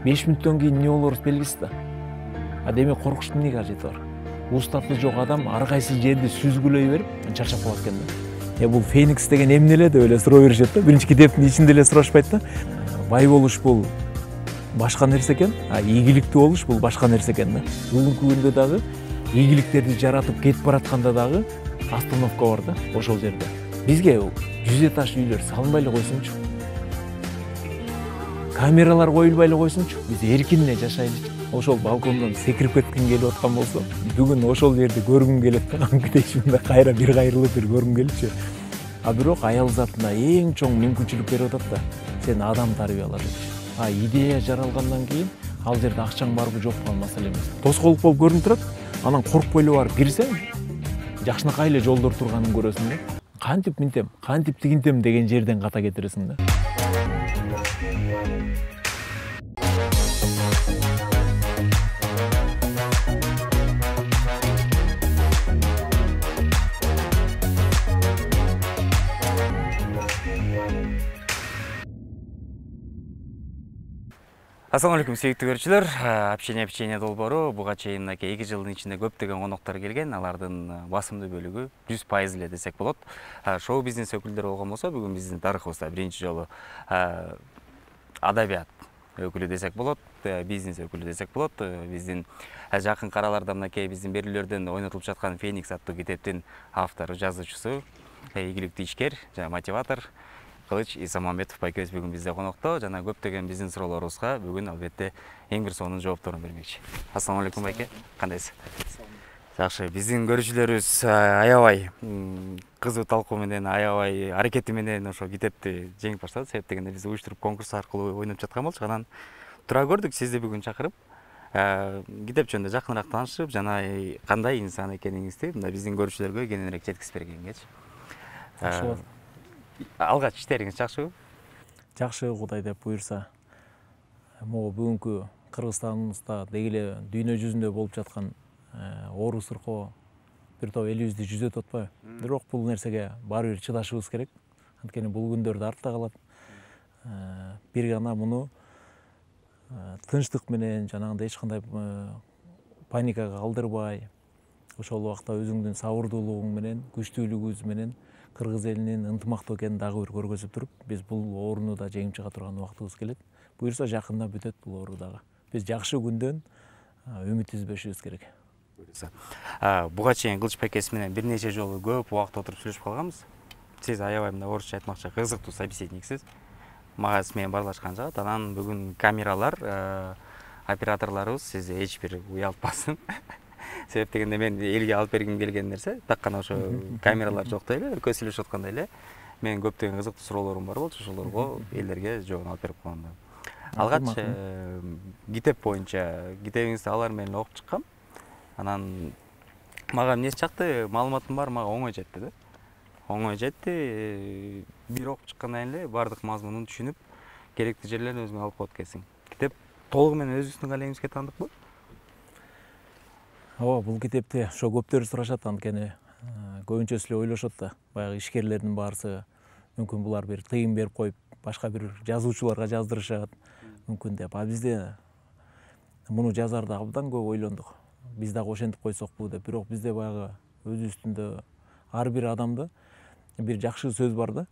5 мүнөттөн кийин эмне болорубуз белгисиз да. Демек коркуштун эмне кажети бар? Устаты жок адам ар кайсы жерди сүзгүлөй берип чарчап калат экен да. Бул Феникс деген эмне эле деп эле суроо беришет да. Биринчи китептин ичинде эле сурашпайт да. Бай болуш бул башка нерсе экен, ийгиликтүү болуш бул башка нерсе экен да. Бүгүнкү күндө дагы ийгиликтерди жаратып кетип баратканда дагы остановка бар да, ошол жерде. Бизге 100 этаж үйлөр салынбай эле койсунчу. Камералар коюлбай эле койсунчу. Биз эркин эле жашайлычы. Ошол балкондон секирип кетким келип аткан болсо, бүгүн ошол жерди көргүм келет да. Анкетечимде кайра бир кайрылып бир көргүм келчү. Бирок аял затына эң чоң мүмкүнчүлүк берип атат да. Сен адам тарбиялар депчи. Идея жаралгандан кийин ал жерде акчаң барбы жокпу ал маселе эмес. Тоскоолдук болуп көрүнүп турат. Анан коркпой эле барып кирсең, жакшынакай эле жолдор турганын көрөсүң да. Кантип минтем, кантип тигинтем деген жерден ката кетиресиң да. Assalamu alaikum сүйүктүү көрүүчүлөр. Общение долбоору буга чейин мынакей 2 жылдын ичинде көптөгөн коноктор келген. Алардын басымдуу бөлүгү 100% эле десек болот. Шоу бизнес өкүлдөрү болгон болсо, бүгүн биздин тарыхыбызда биринчи жолу адабият өкүлү десек болот, бизнес өкүлү десек болот. Биздин жакын араларда мынакей биздин берүүлөрдөн ойнотулуп жаткан Феникс аттуу китептин автору, жазуучусу, ийгиликтүү ишкер жана мотиватор Кылыч Исамамбетов байкебиз бүгүн бизде конокто. Жана көптөгөн биздин суроолорубузга бүгүн албетте эң бир сонун жоопторун бермекчи. Ассаламу алейкум байке. Кандайсыз? Жакшы. Биздин көрүүчүлөрүбүз аябай кызуу талкуу менен, аябай аракети менен ошо китепти жеңипаштады. Себеп дегенде биз уюштуруп конкурс аркылуу ойноп жаткан болчук. Анан тура көрдүк сизди бүгүн чакырып, китеп жөнүндө жакыныраак таанышып, жана кандай инсан экениңизди мында биздин көрүүчүлөргө кененирээк жеткизип бергенгечи. Алгач иштериңиз жакшыбы? Жакшы, Кудай деп буйрса. Могу бүгүнкү Кыргызстаныбызда деги эле дүйнө жүзүндө болуп жаткан оору сыркоо бир топ элибизди жүзөтүп атпайбы? Бирок бул нерсеге баары бир чыдашыбыз керек. Анткени бул күндөрдө артта калат. Бир гана муну тынчтык менен, жанагындай эч кандай паникага калдырбай, ошол убакта өзүңдүн сабырдуулугуң менен, күчтүүлүгүңүз менен кыргыз элинин ынтымактуу экенин дагы бир көргөзүп туруп, биз бул ооруну да жеңип чыга турган убактыбыз келет. Буюрса жакында бүтөт бул оору дагы. Биз жакшы күндөн үмүт үзбөшүбүз керек. Буга чейин Кылыч байкебиз менен бир нече жолу көп убакыт отуруп сүйлөшүп калганбыз. Сиз аябай мындай орусча айтмакчы кызыктуу собеседниксиз. Мага сиз менен баарлашкан жагат. Анан бүгүн камералар, операторлорубуз сизди эч бир уялтпасын. Себеп дегенде мен элге алып бергим келген нерсе так гана ошо камералар жоктой эле, көз сүйлөшүп аткандай эле менин көптөгөн кызыктуу суроолорум бар болчу, ошолорго элдерге жообун алып берип койгом. Алгач китеп боюнча китебиңизди алар менен окуп чыккам. Анан мага эмнеси жакты, маалыматым бар, мага оңой жетти да. Оңой жетти. Бир окуп чыккандан эле баардык мазмунун түшүнүп, керектүү жерлерин өзүңө алып коет экенсиң. Китеп толугу менен өзүңүздүн калемиңизге таандыкпы? Ооба, бул китепти ошо көптөр сурашат, анткени көбүнчөсү эле ойлошот да. Баягы ишкерлердин баарысы мүмкүн булар бир тыйын берип коюп, башка бир жазуучуларга жаздырышат, мүмкүн деп. Бизде муну жазаарда абдан көп ойлондук. Биз дагы ошентип койсокпу деп. Бирок бизде баягы өзүбүздүндө ар бир адамда бир жакшы сөз бар да.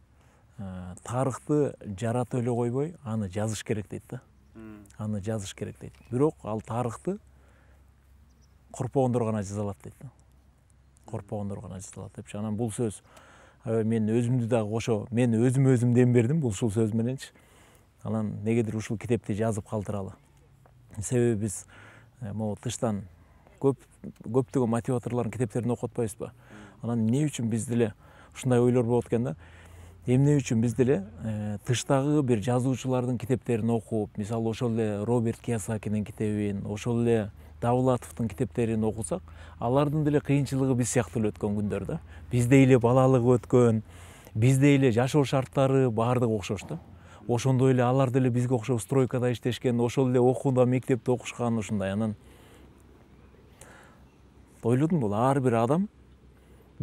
Тарыхты жаратып эле койбой, аны жазыш керек дейт да. Аны жазыш керек дейт. Бирок ал тарыхты корпогондор гана жаза алат дейт да. Корпогондор гана жаза алат депчи. Анан бул сөз мен өзүмдү дагы ошо, мен өзүм дем бердим ушул сөз мененчи. Анан негедир ушул китепти жазып калтыралы. Себеби биз могу тыштан көптөгөн мотиваторлордун китептерин окуп атпайбызбы? Анан эмне үчүн биз деле ушундай ойлор болот экен да? Эмне үчүн биз деле тыштагы бир жазуучулардын китептерин окуп, мисалы ошол эле Роберт Кийосакинин китебин, ошол эле Давлатовдун китептерин окусак, алардын деле кыйынчылыгы биз сыяктуу эле өткөн күндөр да. Биздей эле балалыгы өткөн, биздей эле жашоо шарттары баардыгы окшош да. Ошондой эле алар деле бизге окшоп стройкада иштешкен, ошол эле окууда, мектепте окушкан ушундай. Анан ойлодум, бул ар бир адам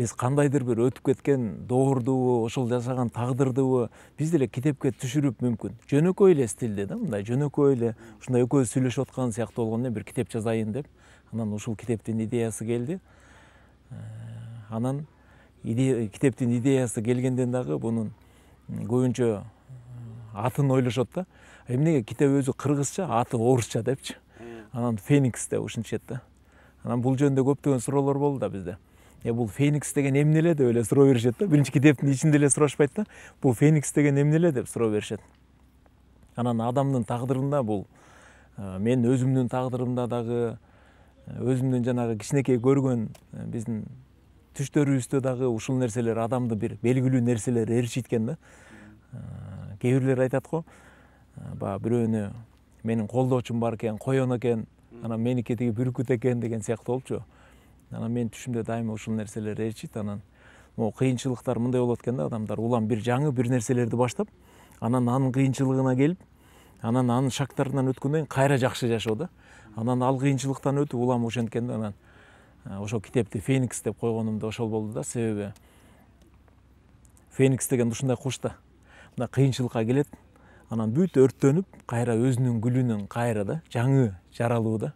биз кандайдыр бир өтүп кеткен доордубу, ошол жашаган тагдырдыбы биз деле китепке түшүрүп мүмкүн жөнөкөй эле стилде да, мындай жөнөкөй эле ушундай экөөбүз сүйлөшүп аткан сыяктуу болгондо бир китеп жазайын деп анан ушул китептин идеясы келди. Анан китептин идеясы келгенден дагы бунун көбүнчө атын ойлошот да. Эмнеге китеп өзү кыргызча, аты орусча депчи. Анан Феникс деп ушинтишет да. Анан бул жөнүндө көптөгөн суроолор болду да бизде. Бул Феникс деген эмне эле деп эле суроо беришет да. Биринчи китептин ичинде эле сурашпайт да. Бул Феникс деген эмне эле деп суроо беришет. Анан адамдын тагдырында бул мен өзүмдүн тагдырымда дагы өзүмдүн жанагы кичинекей көргөн биздин түштөрүбүздө дагы ушул нерселер адамды бир белгилүү нерселер ээрчиткен да. Кээ бирлер айтат го, баягы бирөөнү менин колдоочум бар экен, койон экен, анан меники тиги бүркүт экен деген сыяктуу болчу. Анан менин түшүмдө дайыма ушул нерселер ээрчийт. Анан могу кыйынчылыктар мындай болот экен да, адамдар улам бир жаңы бир нерселерди баштап, анан анын кыйынчылыгына келип, анан анын шактарынан өткөндөн кийин кайра жакшы жашоо да. Анан ал кыйынчылыктан өтүп улам ошенткен да. Анан ошол китепти Феникс деп койгонум да ошол болду да. Себеби Феникс деген ушундай куш да. Мына кыйынчылыкка келет, анан бүт өрттөнүп, кайра өзүнүн гүлүнөн кайра да жаңы жаралуу да.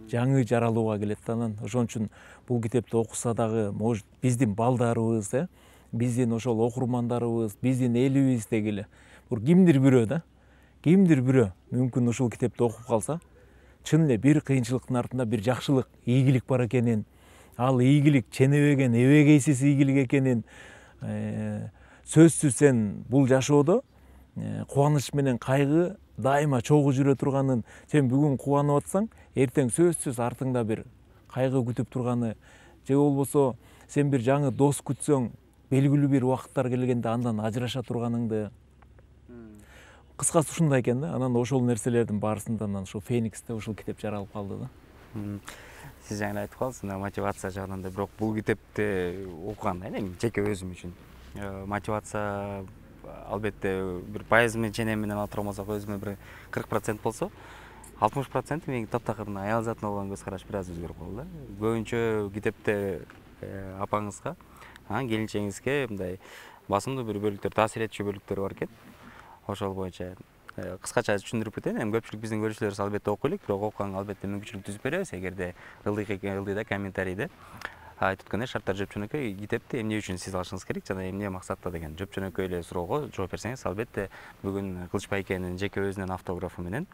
Жаңы жаралууга келет да. Анан ошон үчүн бул китепти окуса дагы, может, биздин балдарыбыз, биздин ошол окурмандарыбыз, биздин элибиздеги эле кимдир бирөө да, кимдир бирөө мүмкүн ушул китепти окуп калса, чын эле бир кыйынчылыктын артында бир жакшылык, ийгилик бар экенин, ал ийгилик ченебеген, эбегейсиз ийгилик экенин, сөзсүз сен бул жашоодо кубаныч менен кайгы дайыма чогуу жүрө турганын, сен бүгүн кубанып атсаң, эртең сөзсүз артыңда бир кайгы күтүп турганы, же болбосо сен бир жаңы дос күтсөң, белгилүү бир убакыттар келгенде андан ажыраша турганыңды. Кыскасы ушундай экен да. Анан ошол нерселердин баарысында ушул Фениксте ушул китеп жаралып калды да. Сиз жаңы айтып калдыңыз, мотивация жагынан да, бирок бул китепти окуганда эми жеке өзүм үчүн мотивация албетте бир пайызы менен ченем менен алып турмасак, өзүмө бир 40% болсо, 60% менин таптакыр мына аял затына болгон көз караш бир аз өзгөрүп калды да. Көбүнчө китепте апаңызга, келинчегиңизге мындай басымдуу бир бөлүктөр, таасир этчү бөлүктөр бар экен. Ошол боюнча кыскача түшүндүрүп кетейин. Эми көпчүлүк биздин көрүүчүлөрүбүз албетте окуй элек, бирок окуганга албетте мүмкүнчүлүк түзүп беребиз. Эгерде ылдыйда комментарийде айтып өткөндөй шарттар жөпчөнөкөй, китепти эмне үчүн сиз алышыңыз керек жана эмне максатта деген жөпчөнөкөй эле суроого жооп берсеңиз, албетте бүгүн Кылыч байкенин жеке өзүнүн автографы менен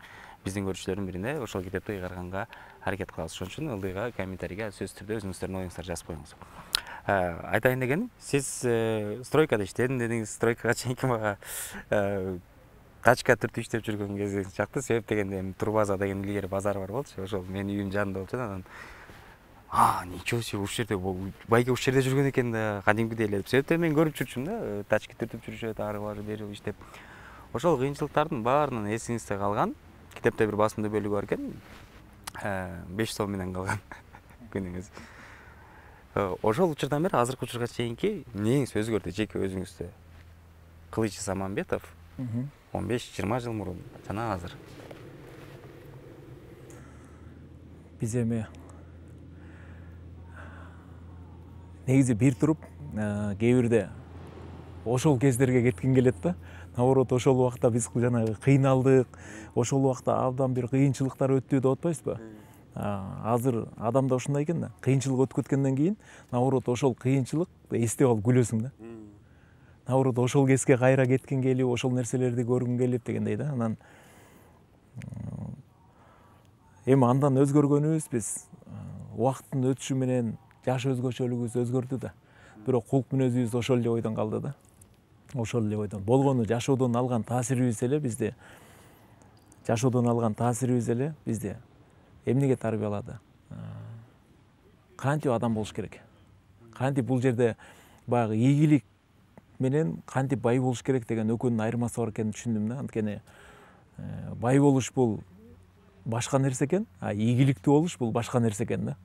биздин көрүүчүлөрдүн бирине ошол китепти ыйгарганга аракет кылабыз. Ошон үчүн ылдыйга комментарийге сөзсүз түрдө өзүңүздөрдүн оюңуздарды жазып коюңуз. Айтайын дегеним, сиз стройкада иштедим дедиңиз. Стройкага чейинки мага тачка түртүп иштеп жүргөн кезиңиз чакты. Себеп дегенде эми Турбаза деген илгери базар бар болчу. Ошол менин үйүм жанында болчу. Анан ничего себе, ушул жерде байке ушул жерде жүргөн экен да, кадимкидей эле деп. Себептен мен көрүп жүрчүмүн да, тачка түртүп жүрүшөт, ары бери иштеп. Ошол кыйынчылыктардын баарынан эсиңизде калган китепте бир басымдуу бөлүгү бар экен. 5 сом менен калган күнүңүз. Ошол учурдан бери азыркы учурга чейинки эмнеңиз өзгөрдү жеке өзүңүздө? Кылыч Заманбетов 15-20 жыл мурун жана азыр. Биз эми негизи бир туруп кээ бирде ошол кездерге кетким келет да. Наоборот, ошол убакта биз жанагы кыйналдык, ошол убакта абдан бир кыйынчылыктар өттү деп атпайсызбы? Азыр адамда ушундай экен да. Кыйынчылык өтүп кеткенден кийин, наоборот, ошол кыйынчылык эстеп алып күлөсүң да. Наоборот, ошол кезге кайра кеткиң келип, ошол нерселерди көргүң келип дегендей да. Анан эми андан өзгөргөнүбүз биз убакыттын өтүшү менен жаш өзгөчөлүгүбүз өзгөрдү да. Бирок кулк мүнөзүбүз ошол эле ойдон калды да. Ошол эле ойдон. Болгону жашоодон алган таасирибиз эле бизди эмнеге тарбиялады? Кантип адам болуш керек? Кантип бул жерде баягы ийгилик менен кантип бай болуш керек деген экөөнүн айырмасы бар экенин түшүндүм да. Анткени бай болуш бул башка нерсе экен, ийгиликтүү болуш бул башка нерсе экен да.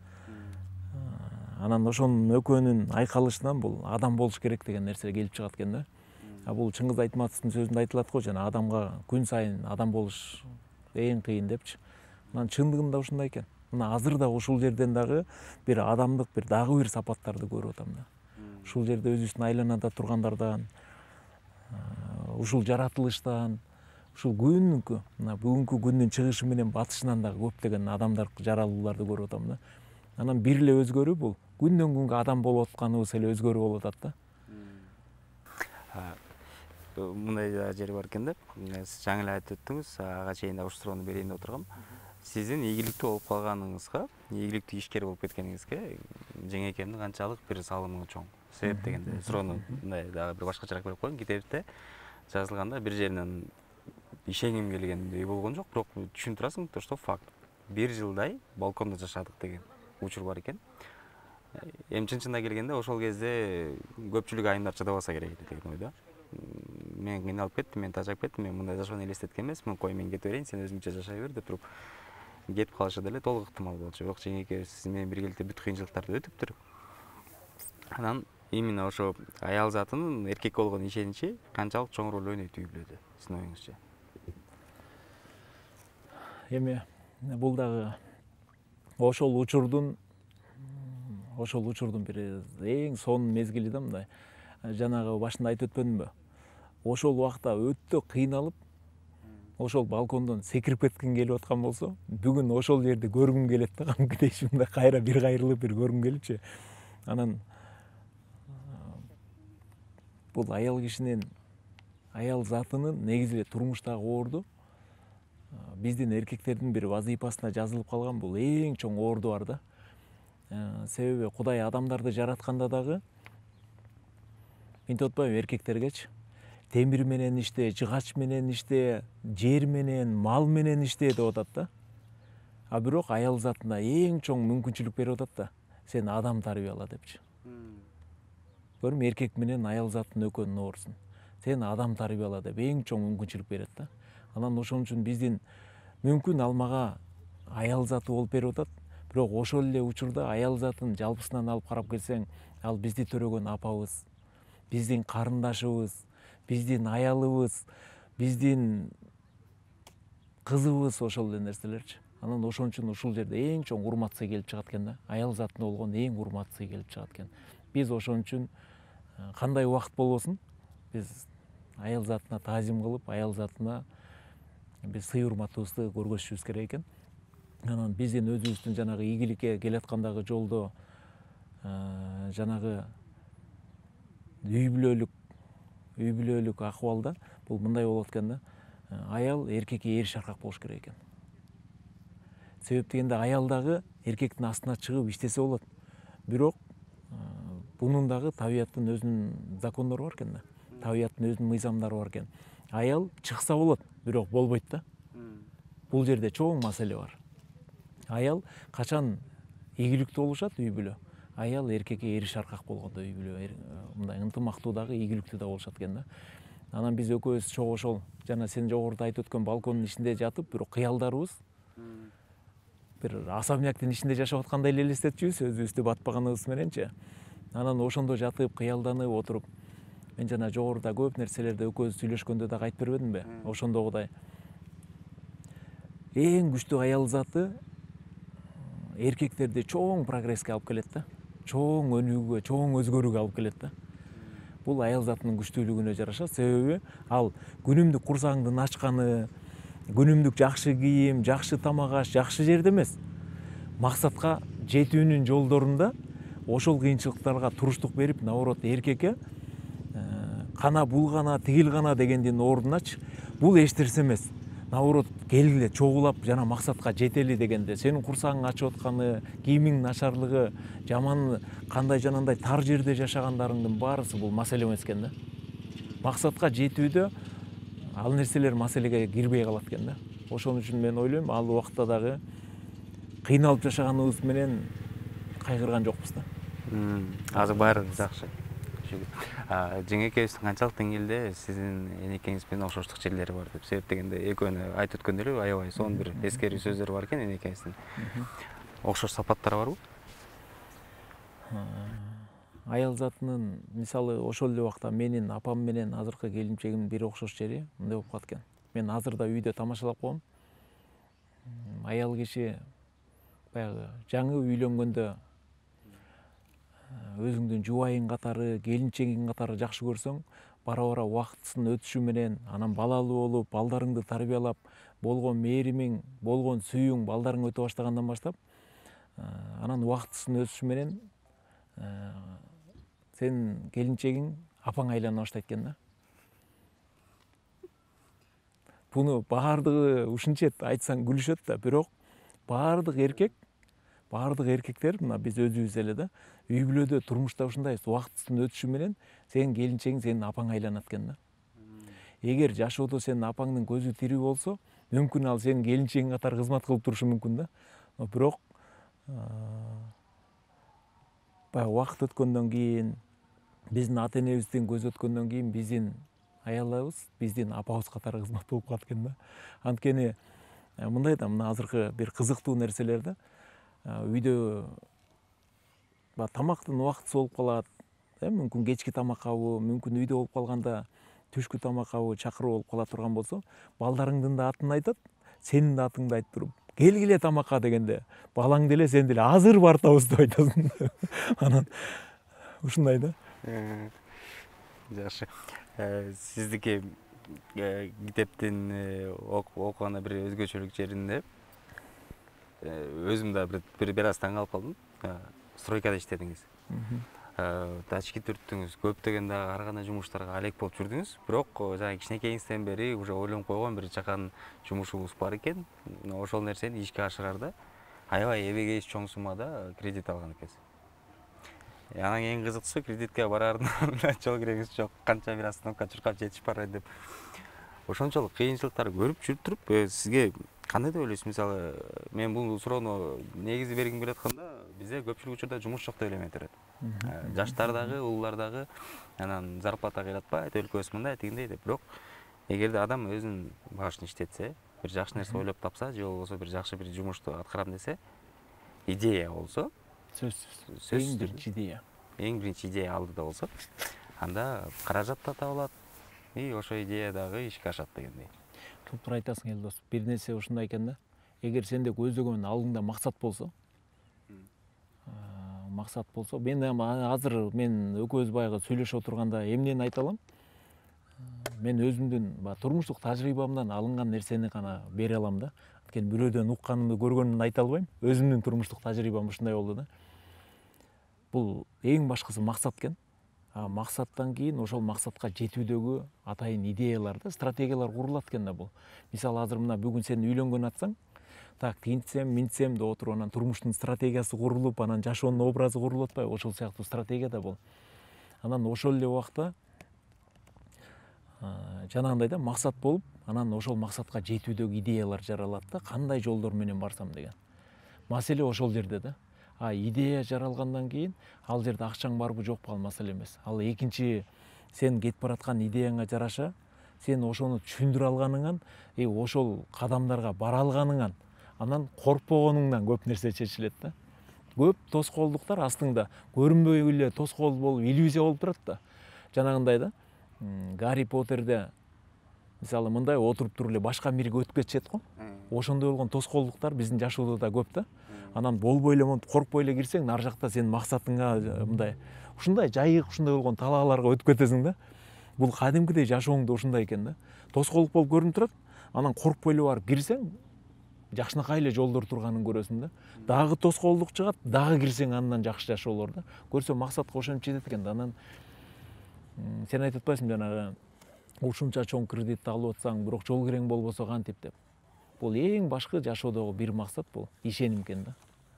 Анан ошонун экөөнүн айкалышынан бул адам болуш керек деген нерсе келип чыгат экен да. Бул Чыңгыз Айтматовдун сөзүндө айтылат го, жана адамга күн сайын адам болуш эң кыйын депчи. Анан чындыгында ушундай экен. Мына азыр да ушул жерден дагы бир адамдык дагы бир сапаттарды көрүп атам да. ушул жерде өзүбүздүн айланада тургандардан, ушул жаратылыштан, ушул күнгү мына бүгүнкү күндүн чыгышы менен батышынан дагы көптөгөн адамдар, жаралууларды көрүп атам да. Анан бир эле өзгөрүү бул күндөн күнгө адам болуп атканыбыз эле өзгөрүү болуп атат да. Мындай да жери бар экен да. Сиз жаңы эле айтып өттүңүз, ага чейин да ушул суроону берейин деп отургам. Сиздин ийгиликтүү болуп калганыңызга, ийгиликтүү ишкер болуп кеткениңизге жеңекемдин канчалык бир салымы чоң? Себеп дегенде суроону мындай дагы бир башкачараак берип коеюн. Китепте жазылганда бир жеринен ишенгим келгендей болгон жок, бирок түшүнүп турасың, то что факт. 1 жылдай балкондо жашадык деген учур бар экен. Эми чын-чынына келгенде ошол кезде көпчүлүк айымдар чыдабаса керек деген ойдо. Мен кыйналып кеттим, мен тажап кеттим, мен мындай жашоону элестеткен эмесмин, кой мен кетип берейин, сен өзүңчө жашай бер деп туруп кетип калышы деле толук ыктымал болчу. Бирок жеңеке сиз менен биргеликте бүт кыйынчылыктарды өтүптүр. Анан именно ошо аял затынын эркекке болгон ишеничи канчалык чоң роль ойнойт үй бүлөдө сиздин оюңузча? Эми бул дагы ошол учурдун бир эң сонун мезгили да мындай. Жанагы башында айтып өтпөдүмбү? Ошол убакта өтө кыйналып, ошол балкондон секирип кетким келип аткан болсо, бүгүн ошол жерди көргүм келет да, кадимкидей мындай кайра бир кайрылып бир көргүм келипчи. Анан бул аял кишинин, аял затынын негизи эле турмуштагы оорду биздин эркектердин бир вазыйфасына жазылып калган бул эң чоң оорду бар да. Себеби Кудай адамдарды жаратканда дагы мынтип атпайбы эркектергечи? Темир менен иште, жыгач менен иште, жер менен, мал менен иште деп атат да. А бирок аял затына эң чоң мүмкүнчүлүк берип атат да. Сен адам тарбияла депчи. Көрдүңбү, эркек менен аял заттын экөөнүн оорусун. Сен адам тарбияла деп эң чоң мүмкүнчүлүк берет да. Анан ошон үчүн биздин мүмкүн алмага аял заты болуп берип атат. Бирок ошол эле учурда аял затын жалпысынан алып карап келсең, ал бизди төрөгөн апабыз, биздин карындашыбыз, биздин аялыбыз, биздин кызыбыз, ошол эле нерселерчи. Анан ошон үчүн ушул жерде эң чоң урмат сый келип чыгат экен да. Аял затына болгон эң урмат сый келип чыгат экен. Биз ошон үчүн кандай убакыт болбосун, биз аял затына таазим кылып, аял затына биз сый урматыбызды көргөзүшүбүз керек экен. Анан биздин өзүбүздүн жанагы ийгиликке келаткандагы жолдо жанагы үй бүлөлүк акыбалда бул мындай болот экен да. Аял эркекке ээриш аркак болуш керек экен. Себеп дегенде аял дагы эркектин астына чыгып иштесе болот. Бирок бунун дагы табияттын өзүнүн закондору бар экен да. Табияттын өзүнүн мыйзамдары бар экен. Аял чыкса болот, бирок болбойт да. Бул жерде чоң маселе бар. Аял качан ийгиликтүү болушат үй бүлө? Аял эркекке ээриш аркак болгондо үй бүлө мындай ынтымактуу дагы ийгиликтүү да болушат экен да. Анан биз экөөбүз чогуу ошол жана сен жогоруда айтып өткөн балкондун ичинде жатып, бирок кыялдарыбыз бир особняктын ичинде жашап аткандай эле элестетчүбүз, өзүбүздү батпаганыбыз мененчи. Анан ошондо жатып, кыялданып отуруп, мен жана жогоруда көп нерселерди экөөбүз сүйлөшкөндө дагы айтып бербедимби? Ошондогудай эң күчтүү аял заты эркектерди чоң прогресске алып келет да. Чоң өнүгүүгө, чоң өзгөрүүгө алып келет да. Бул аял затынын күчтүүлүгүнө жараша, себеби ал күнүмдүк курсагыңдын ачканы, күнүмдүк жакшы кийим, жакшы тамак аш, жакшы жерде эмес. Максатка жетүүнүн жолдорунда ошол кыйынчылыктарга туруштук берип, наоборот, эркекке кана булгана, тигил гана дегендин ордуначы бул эч нерсе эмес. Наоборот, келгиле чогулап жана максатка жетели дегенде, сенин курсагың ачып атканы, кийимиңдин начарлыгы, жаман кандай жанагындай тар жерде жашагандарыңдын баарысы бул маселе эмес экен да. Максатка жетүүдө ал нерселер маселеге кирбей калат экен да. Ошон үчүн мен ойлойм, ал убакта дагы кыйналып жашаганыбыз менен кайгырган жокпуз да. Азыр баары жакшы. Жеңекебиздин канчалык деңгээлде сиздин энекеңиз менен окшоштук жерлери бар деп? Себеп дегенде экөөнү айтып өткөн эле аябай сонун бир эскерүү сөздөр бар экен энекеңиздин. Окшош сапаттары барбы? Аял затынын мисалы ошол эле убакта менин апам менен азыркы келинчегимдин бир окшош жери мындай болуп калат экен. Мен азыр да үйдө тамашалап коем. Аял киши баягы жаңы үйлөнгөндө өзүңдүн жубайың катары, келинчегиң катары жакшы көрсөң, бара бара убактысынын өтүшү менен анан балалуу болуп, балдарыңды тарбиялап, болгон мээримиң, болгон сүйүүң балдарың өтө баштагандан баштап, анан убактысынын өтүшү менен сенин келинчегиң апаңа айлана баштайт экен да. Буну баардыгы ушинчет айтсаң күлүшөт да, бирок баардык эркектер мына биз өзүбүз эле да, үй бүлөдө, турмушта ушундайбыз. Убактысынын өтүшү менен сенин келинчегиң сенин апаңа айланат экен да. Эгер жашоодо сенин апаңдын көзү тирүү болсо, мүмкүн ал сенин келинчегиң катары кызмат кылып турушу мүмкүн да. Бирок баягы убакыт өткөндөн кийин, биздин ата энебиздин көзү өткөндөн кийин биздин аялыбыз биздин апабыз катары кызмат болуп калат экен да. Анткени мындай да, мына азыркы бир кызыктуу нерселер да. Үйдө тамактын убактысы болуп калат, мүмкүн кечки тамак кабы, мүмкүн үйдө болуп калганда түшкү тамак кабы чакыруу болуп кала турган болсо, балдарыңдын да атын айтат, сенин да атыңды айтып туруп, келгиле тамакка дегенде, балаң деле сен деле азыр бартабыз деп айтасың. Анан ушундай да. Жакшы. Сиздики китептин окуганда бир өзгөчөлүк жеринде өзүм да бир аз таң калып калдым. Стройкада иштедиңиз. Тачки түрттүңүз, көптөгөн дагы ар кандай жумуштарга алек болуп жүрдүңүз. Бирок жана кичинекейиңизден бери уже ойлонуп койгон бир чакан жумушуңуз бар экен. Ошол нерсени ишке ашыраарда аябай эбегейиз чоң суммада кредит алган экенсиз. Анан эң кызыктуусу, кредитке бараарында жол киреңиз жок, канча бир остановка чуркап жетишип барайын деп. Ошончолук кыйынчылыктарды көрүп жүрүп туруп, сизге кандай деп ойлойсуз? Мисалы, мен бул суроону негизи бергим келип атканда, бизде көпчүлүк учурда жумуш жок деп эле эметет. Жаштар дагы, улуулар дагы анан зарплата кыйлатпайт, өлкөбүз мындай, тигиндей деп. Бирок эгерде адам өзүнүн башын иштетсе, бир жакшы нерсе ойлоп тапса, же болбосо бир жакшы бир жумушту аткарам десе, идея болсо, сөзсүз эң биринчи идея. Эң биринчи идея алдыда болсо, анда каражат да табылат, и ошо идея дагы ишке ашат дегендей. Туптура айтасың Элдос. Бир нерсе ушундай экен да. Эгер сенде көздөгөн алдыңда максат болсо, мен азыр экөөбүз баягы сүйлөшүп отурганда эмнени айта алам? Мен өзүмдүн турмуштук тажрыйбамдан алынган нерсени гана бере алам да. Анткени бирөөдөн укканымды, көргөнүмдү айта албайм. Өзүмдүн турмуштук тажрыйбам ушундай болду да. Бул эң башкысы максат экен. Максаттан кийин ошол максатка жетүүдөгү атайын идеялар да, стратегиялар курулат экен да бул. Мисалы, азыр мына бүгүн сен үйлөнгөн атсаң, так тинтсем, минтсем деп отуруп, анан турмуштун стратегиясы курулуп, анан жашоонун образы курулуп атпайбы? Ошол сыяктуу стратегия да бул. Анан ошол эле убакта жанагындай да, максат болуп, анан ошол максатка жетүүдөгү идеялар жаралат да, кандай жолдор менен барсам деген. Маселе ошол жерде да. Идея жаралгандан кийин ал жерде акчаң барбы жокпу, ал маселе эмес. Ал экинчи, сен кетип бараткан идеяңа жараша сен ошону түшүндүрө алганыңан, ошол кадамдарга бара алганыңан, анан коркпогонуңдан көп нерсе чечилет да. Көп тоскоолдуктар астыңда көрүнбөй эле тоскоол болуп, иллюзия болуп турат да. Жанагындай да, Гарри Поттерде мисалы мындай отуруп туруп эле башка мирге өтүп кетишет го. Ошондой болгон тоскоолдуктар биздин жашоодо да көп да. Анан болбой эле монтип коркпой эле кирсең, ар жакта сенин максатыңа мындай ушундай жайык, ушундай болгон талааларга өтүп кетесиң да. Бул кадимкидей жашооңдо ушундай экен да. Тоскоолдук болуп көрүнүп турат, анан коркпой эле барып кирсең, жакшынакай эле жолдор турганын көрөсүң да. Дагы тоскоолдук чыгат, дагы кирсең андан жакшы жашоо болор да. Көрсө максатка ошентип жетет экен да. Анан сен айтып атпайсыңбы жанагы ушунча чоң кредитти алып атсаң, бирок жол кирең болбосо кантип деп. Бул эң башкы жашоодогу бир максат, бул ишеним экен да.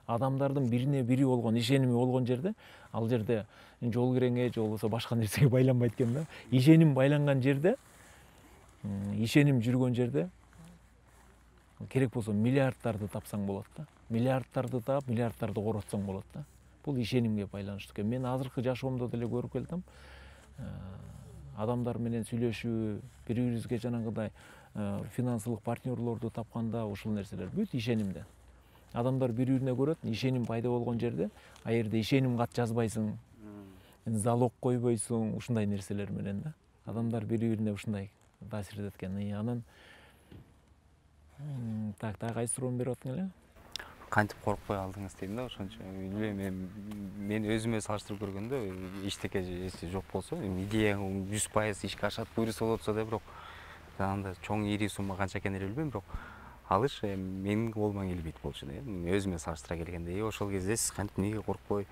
Адамдардын бирине бири болгон ишеними болгон жерде, ал жерде жол киреңе же болбосо башка нерсеге байланбайт экен да. Ишеним байланган жерде, ишеним жүргөн жерде керек болсо миллиардтарды тапсаң болот да. Миллиардтарды таап, миллиардтарды коротсоң болот да. Бул ишенимге байланыштуу экен. Мен азыркы жашоомдо деле көрүп келдим. Адамдар менен сүйлөшүү, бири-бирибизге жанагындай финансылык партнерлорду тапканда ушул нерселер бүт ишенимден. Адамдар бири-бирине көрөт, ишеним пайда болгон жерде, а жерде ишеним кат жазбайсың, залог койбойсуң, ушундай нерселер менен да. Адамдар бири-бирине ушундай таасир этет экен. Анан так кайсы суроону берип аттың эле? кантип коркпой алдыңыз дейм да, ошончо. Билбейм, мен өзүмө салыштырып көргөндө эчтеке жок болсо, идея 100% ишке ашат, буйруса болот атса да, бирок анда чоң ири сумма канча экенин билбейм, бирок алыш менин колуман келбейт болчу да, өзүмө салыштыра келгенде. Ошол кезде сиз кантип эмнеге коркпой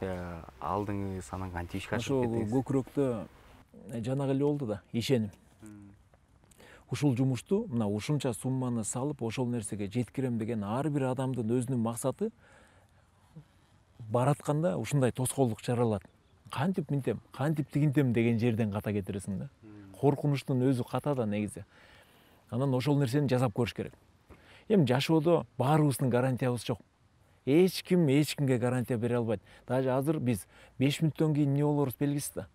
алдыңыз, анан кантип ишке ашырып ошол кеттиңиз? көкүрөктө жанагы эле болду да, ишеним. Ушул жумушту мына ушунча сумманы салып ошол нерсеге жеткирем деген ар бир адамдын өзүнүн максаты баратканда ушундай тоскоолдук жаралат. Кантип минтем, кантип тигинтем деген жерден ката кетиресиң да. Коркунучтун өзү ката да негизи. Анан ошол нерсени жасап көрүш керек. Эми жашоодо баарыбыздын гарантиябыз жок. Эч ким эч кимге гарантия бере албайт. Даже азыр биз 5 мүнөттөн кийин эмне болорубуз белгисиз да.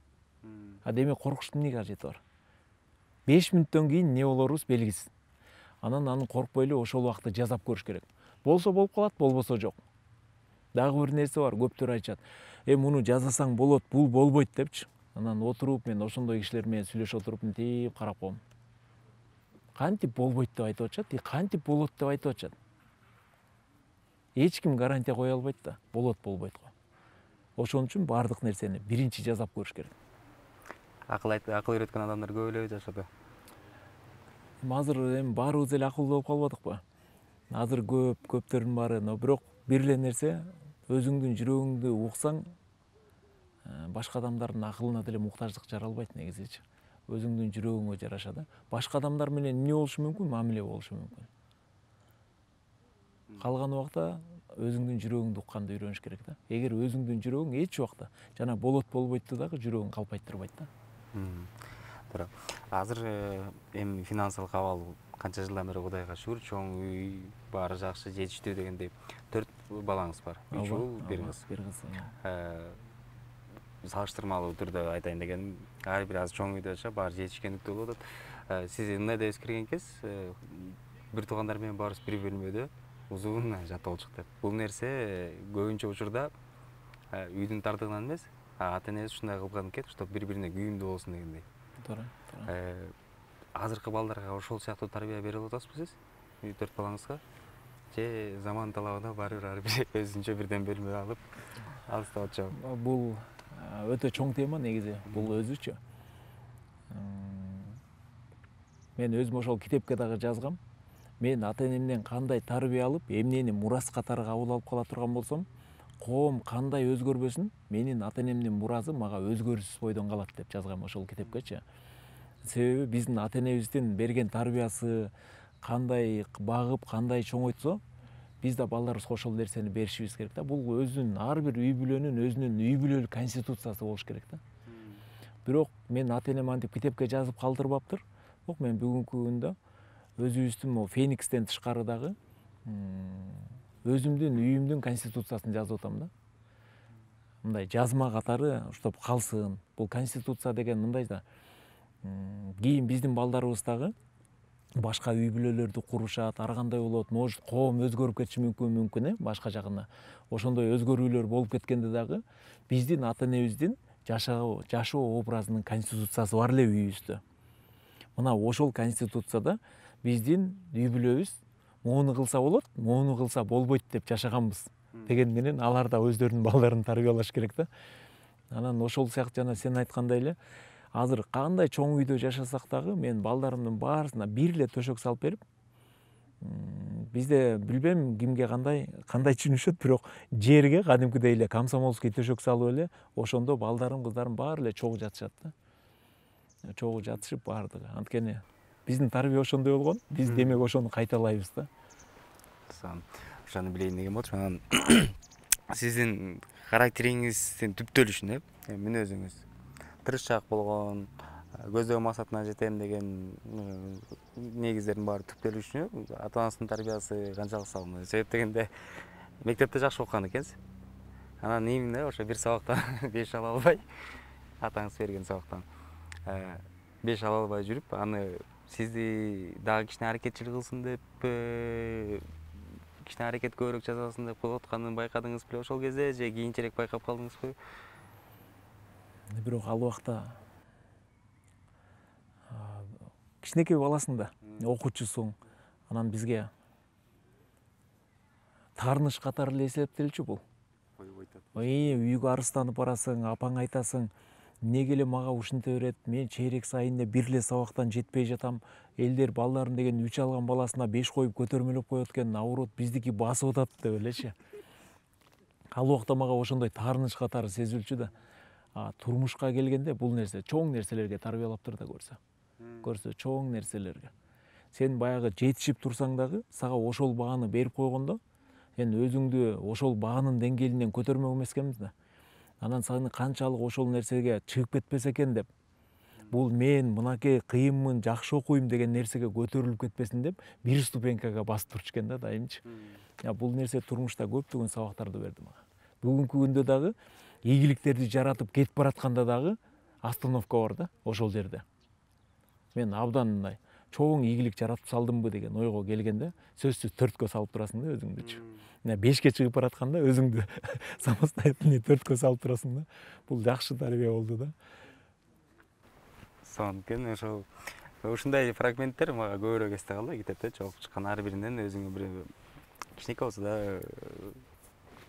Демек коркуштун эмне кажети бар? 5 мүнөттөн кийин эмне болорубуз белгисиз. Анан аны коркпой эле ошол убакта жасап көрүш керек. Болсо болуп калат, болбосо жок. Дагы бир нерсе бар, көптөр айтышат. Муну жасасаң болот, бул болбойт депчи. Анан отуруп мен ошондой кишилер менен сүйлөшүп отуруп мынтип карап коем. Кантип болбойт деп айтып атышат, кантип болот деп айтып атышат. Эч ким гарантия кое албайт да, болот болбойт го. Ошон үчүн баардык нерсени биринчи жасап көрүш керек. Акыл үйрөткөн адамдар көп эле жашоодо. Азыр баарыбыз эле акылдуу болуп калбадыкпы? Азыр көптөрдүн баары, но бирок бир эле нерсе, өзүңдүн жүрөгүңдү уксаң, башка адамдардын акылына деле муктаждык жаралбайт негизичи. Өзүңдүн жүрөгүңө жараша да. Башка адамдар менен эмне болушу мүмкүн? Мамиле болушу мүмкүн. Калган убакта өзүңдүн жүрөгүңдү укканды үйрөнүш керек да. Эгер өзүңдүн жүрөгүң эч убакта жана болот болбойту дагы жүрөгүң калпайттырбайт да. Туура. Азыр эми финансылык абал канча жылдан бери Кудайга шүгүр, чоң үй, баары жакшы, жетиштүү дегендей 4 балаңыз бар. 3 уул, 1 кыз. Бир кыз. Салыштырмалуу түрдө айтайын дегеним, ар бир азыр чоң үйдө жашап, баары жетишкендиктүү болуп атат. Сиз ындайда өсүп кирген кез, бир туугандар менен баарыбыз бир бөлмөдө узун жатып алчук деп. Бул нерсе көбүнчө учурда үйдүн тардыгынан эмес, ата энебиз ушундай кылган экен, чтобы бири-бирине күйүмдүү болсун дегендей. Туура. Азыркы балдарга ошол сыяктуу тарбия берип атасызбы сиз? 4 балаңызга? Же заман талабына баары бир ар бир өзүнчө бирден бөлмө алып алыстап атышабы? Бул өтө чоң тема негизи, бул өзүчө. Мен өзүм ошол китепке дагы жазгам. Мен ата энемден кандай тарбия алып, эмнени мурас катары кабыл алып кала турган болсом, коом кандай өзгөрбөсүн, менин ата энемдин муразы мага өзгөрүшсүз бойдон калат деп жазгам ошол китепкечи. Себеби биздин ата энебиздин берген тарбиясы кандай багып, кандай чоңойтсо, биз да балдарыбызга ошол нерсени беришибиз керек да. Бул өзүнүн ар бир үй бүлөнүн өзүнүн үй бүлөлүк конституциясы болуш керек да. Бирок мен ата энем антип китепке жазып калтырбаптыр. Бирок мен бүгүнкү күндө өзүбүздүн могу Феникстен тышкары дагы өзүмдүн үйүмдүн конституциясын жазып атам да. Мындай жазма катары уштап калсын. Бул конституция деген мындай да. Кийин биздин балдарыбыз дагы башка үй бүлөлөрдү курушат, ар кандай болот, может коом өзгөрүп кетиши мүмкүн, башка жагына. Ошондой өзгөрүүлөр болуп кеткенде дагы биздин ата энебиздин жашоо образынын конституциясы бар эле үйүбүздө. Мына ошол конституцияда биздин үй бүлөбүз моуну кылса болот, моуну кылса болбойт деп жашаганбыз деген менен алар да өздөрүнүн балдарын тарбиялаш керек да. Анан ошол сыяктуу жана сен айткандай эле азыр кандай чоң үйдө жашасак дагы мен балдарымдын баарысына бир эле төшөк салып берип, бизде билбейм кимге кандай түшүнүшөт, бирок жерге кадимкидей эле комсомольский төшөк салып эле ошондо балдарым, кыздарым баары эле чогуу жатышат да. Чогуу жатышып баардыгы. Анткени биздин тарбия ошондой болгон, биз демек ошону кайталайбыз да. Ошону билейин деген болчу. Анан сиздин характериңиздин түптөлүшүн, мүнөзүңүз тырышчаак болгон, көздөгөн максатына жетем деген негиздердин баары түптөлүшүнө ата-анасынын тарбиясы канчалык салынган? Себеп дегенде мектепте жакшы окуган экенсиз. Анан эмне ошо бир сабактан 5 ала албай, атаңыз берген сабактан 5 ала албай жүрүп, аны сизди дагы кичине аракетчил кылсын деп, кичине аракет көбүрөөк жасасын деп кылып атканын байкадыңыз беле ошол кезде, же кийинчерээк байкап калдыңызбы? Бирок ал убакта кичинекей баласың да, окуучусуң. Анан бизге таарыныч катары эле эсептелчү бул. Үйгө арызданып барасың, апаңа айтасың, эмнеге эле мага ушинте берет, мен чейрек сайын эле бир эле сабактан жетпей жатам, элдер балдарын деген 3 алган баласына 5 коюп көтөрмөлөп коет экен, наоборот биздики басып атат деп элечи. Ал убакта мага ошондой таарыныч катары сезилчү да. Турмушка келгенде бул нерсе чоң нерселерге тарбиялап тур да көрсө чоң нерселерге. Сен баягы жетишип турсаң дагы сага ошол бааны берип койгондо сен өзүңдү ошол баанын деңгээлинен көтөрмөк эмес экенбиз да. Анан сени канчалык ошол нерсеге чыгып кетпесе экен деп, бул мен мынакей кыйынмын, жакшы окуйм деген нерсеге көтөрүлүп кетпесин деп бир ступенькага басып турчу экен да дайымчы. Бул нерсе турмушта көптөгөн сабактарды берди мага. Бүгүнкү күндө дагы ийгиликтерди жаратып кетип баратканда дагы остановка бар да ошол жерде. Мен абдан мындай чоң ийгилик жаратып салдымбы деген ойго келгенде сөзсүз 4кө салып турасың да өзүңдүчү. 5ке чыгып баратканда өзүңдү самостоятельный 4кө салып турасың да. Бул жакшы тарбия болду да. Сонун экен. Ушундай фрагменттер мага көбүрөөк эсте калды китепте чогуу чыккан ар биринен өзүңө бир кичинекей болсо да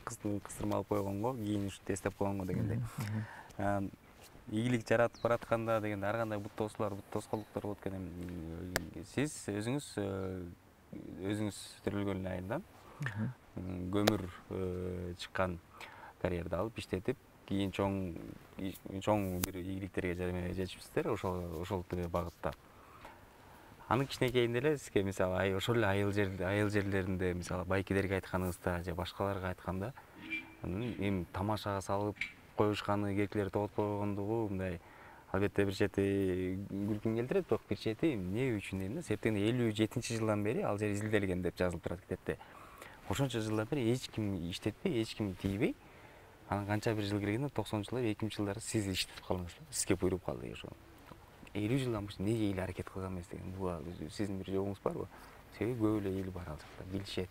кыстырма алып койгонго, кийин ушинтип эстеп койгонго дегендей. Ийгилик жаратып баратканда дегенде ар кандай бут тосуулар, бут тоскоолдуктар болот экен. Сиз өзүңүз төрөлгөн айынан көмүр чыккан карьерди алып иштетип, кийин чоң бир ийгиликтерге жетишипсиздер ошол багытта. Анын кичинекейинде эле сизге мисалы ошол эле айыл жерлеринде мисалы байкелерге айтканыңызда же башкаларга айтканда эми тамашага салып коюшканы, керкелерди тоготуп койгондугу мындай албетте бир чети күлкүң келтирет, бирок бир чети эмне үчүн дейм да, себептен 57-жылдан бери ал жер изилделген деп жазылып турат китепте. Ошончо жылдан бери эч ким иштетпей, эч ким тийбей, анан канча бир жыл келгенде 90-жылдар, 2000-жылдары сиз иштетип калдыңыз. Сизге буйруп калды ошо. 50 жылдан бери неге эл аракет кылган эмес деген буга сиздин бир жобуңуз барбы? Себеби көп эле эл бар ал жакта, билишет.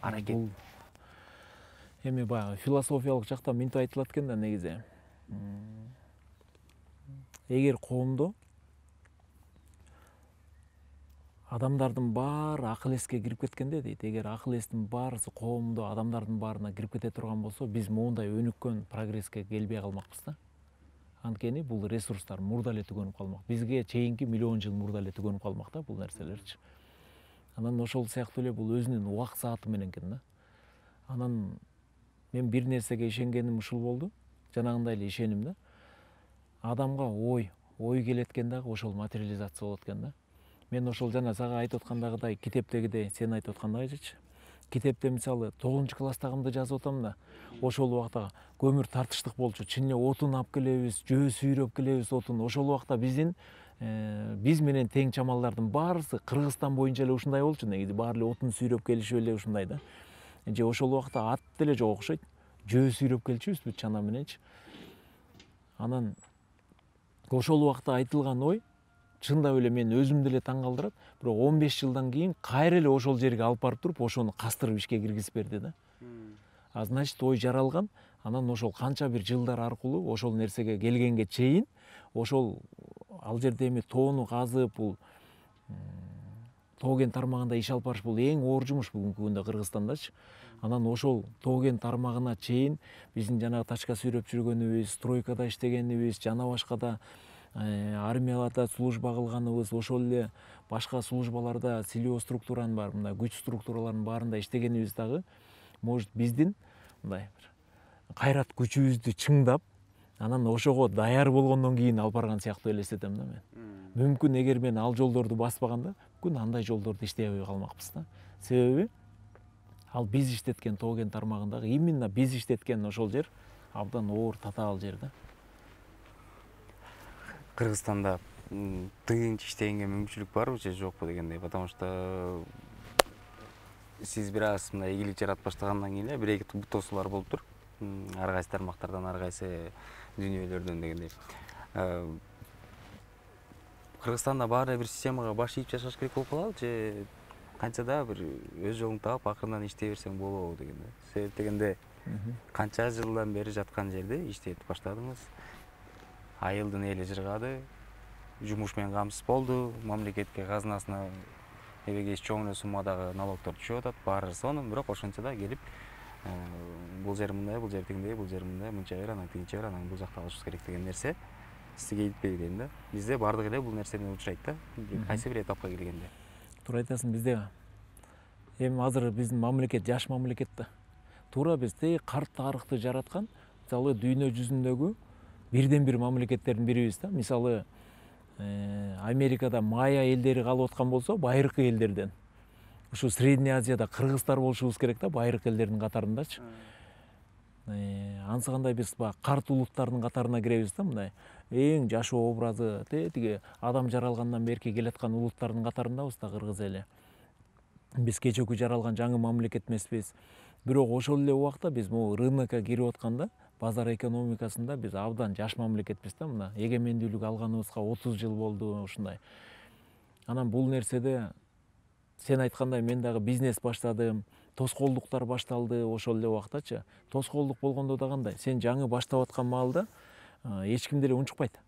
Аракет. Эми баягы философиялык жактан мынтип айтылат экен да негизи. Эгер коомдо адамдардын баары акыл эске кирип кеткенде дейт, эгер акыл эстин баарысы коомдо адамдардын баарына кирип кете турган болсо, биз моундай өнүккөн прогресске келбей калмакпыз да. Анткени бул ресурстар мурда эле түгөнүп калмак. Бизге чейинки миллион жыл мурда эле түгөнүп калмак да бул нерселерчи. Анан ошол сыяктуу эле бул өзүнүн убак сааты менен экен да. Анан мен бир нерсеге ишенгеним ушул болду. Жанагындай эле ишеним да. Адамга ой келет экен дагы ошол материализация болот экен да. Мен ошол жана сага айтып аткандагыдай китептегидей сен айтып аткандайчы. Китепте мисалы 9-класстагымды жазып атам да. Ошол убакта көмүр тартыштык болчу. Чын эле отун алып келебиз, жөө сүйрөп келебиз отун. Ошол убакта биз менен тең чамалдардын баарысы Кыргызстан боюнча эле ушундай болчу негизи. Баары эле отун сүйрөп келишип эле ушундай да. Же ошол убакта ат деле жок окшойт. Жөө сүйрөп келчүбүзбү чана мененчи. Анан ошол убакта айтылган ой чындап эле мен өзүмдү эле таң калтырат. Бирок 15 жылдан кийин кайра эле ошол жерге алып барып туруп, ошону кастырып ишке киргизип берди да. Значит, ой жаралган. Анан ошол канча бир жылдар аркылуу ошол нерсеге келгенге чейин ошол ал жерде эми тоону казып, бул тоо кен тармагында иш алып барыш бул эң оор жумуш бүгүнкү күндө Кыргызстандачы. Анан ошол тоо кен тармагына чейин биздин жанагы тачка сүйрөп жүргөнүбүз, стройкада иштегенибиз, жана башка да армияларда служба кылганыбыз, ошол эле башка службаларда силөө структуранын баары, мындай күч структураларынын баарында иштегенибиз дагы может биздин мындай кайрат күчүбүздү чыңдап, анан ошого даяр болгондон кийин алып барган сыяктуу элестетем да мен. Мүмкүн эгер мен ал жолдорду баспаганда, мүмкүн андай жолдорду иштей албай калмакпыз да. Себеби ал биз иштеткен тоо кен тармагындагы именно биз иштеткен ошол жер абдан оор татаал жер да. Кыргызстанда тыйынча иштегенге мүмкүнчүлүк барбы же жокпу дегендей, потому что сиз бир аз мындай ийгилик жаратып баштагандан кийин эле бир эки бут тосуулар болуптур. Ар кайсы тармактардан, ар кайсы дүйнөлөрдөн дегендей. Кыргызстанда баары бир системага баш ийип жашаш керек болуп калабы же канча да бир өз жолуңду таап акырындан иштей берсең болобу дегенде. Себеп дегенде канча жылдан бери жаткан жерде иштетип баштадыңыз. Айылдын эли жыргады, жумуш менен камсыз болду, мамлекетке казынасына эбеге эч чоң эле суммадагы налогдор түшүп атат, баары сонун, бирок ошентсе да келип бул жер мындай, бул жер тигиндей, бул жер мындай, мынча бер, анан тигинче бер, анан бул жакта алышыбыз керек деген нерсе сизге иликпеби дейм да. Бизде баардык эле бул нерседен учурайт да, кайсы бир этапка келгенде. Туура айтасың, бизде эми азыр биздин мамлекет жаш мамлекет да. Туура биз карт тарыхты жараткан, мисалы дүйнө жүзүндөгү бирден бир мамлекеттердин бирибиз да. Мисалы Америкада майя элдери калып аткан болсо, байыркы элдерден. Ушу Средний Азияда кыргыздар болушубуз керек да, байыркы элдердин катарындачы. Ансыгандай биз карт улуттардын катарына киребиз да, мындай эң жашоо образы тиги адам жаралгандан берки келаткан улуттардын катарындабыз да кыргыз эли. Биз кечээкү жаралган жаңы мамлекет эмеспиз. Бирок ошол эле убакта биз могу рынокко кирип атканда, базар экономикасында биз абдан жаш мамлекетпиз да. Мына эгемендүүлүк алганыбызга 30 жыл болду ушундай. Анан бул нерседе сен айткандай мен дагы бизнес баштадым, тоскоолдуктар башталды ошол эле убактачы. Тоскоолдук болгондо да кандай? Сен жаңы баштап аткан маалда эч ким деле унчукпайт.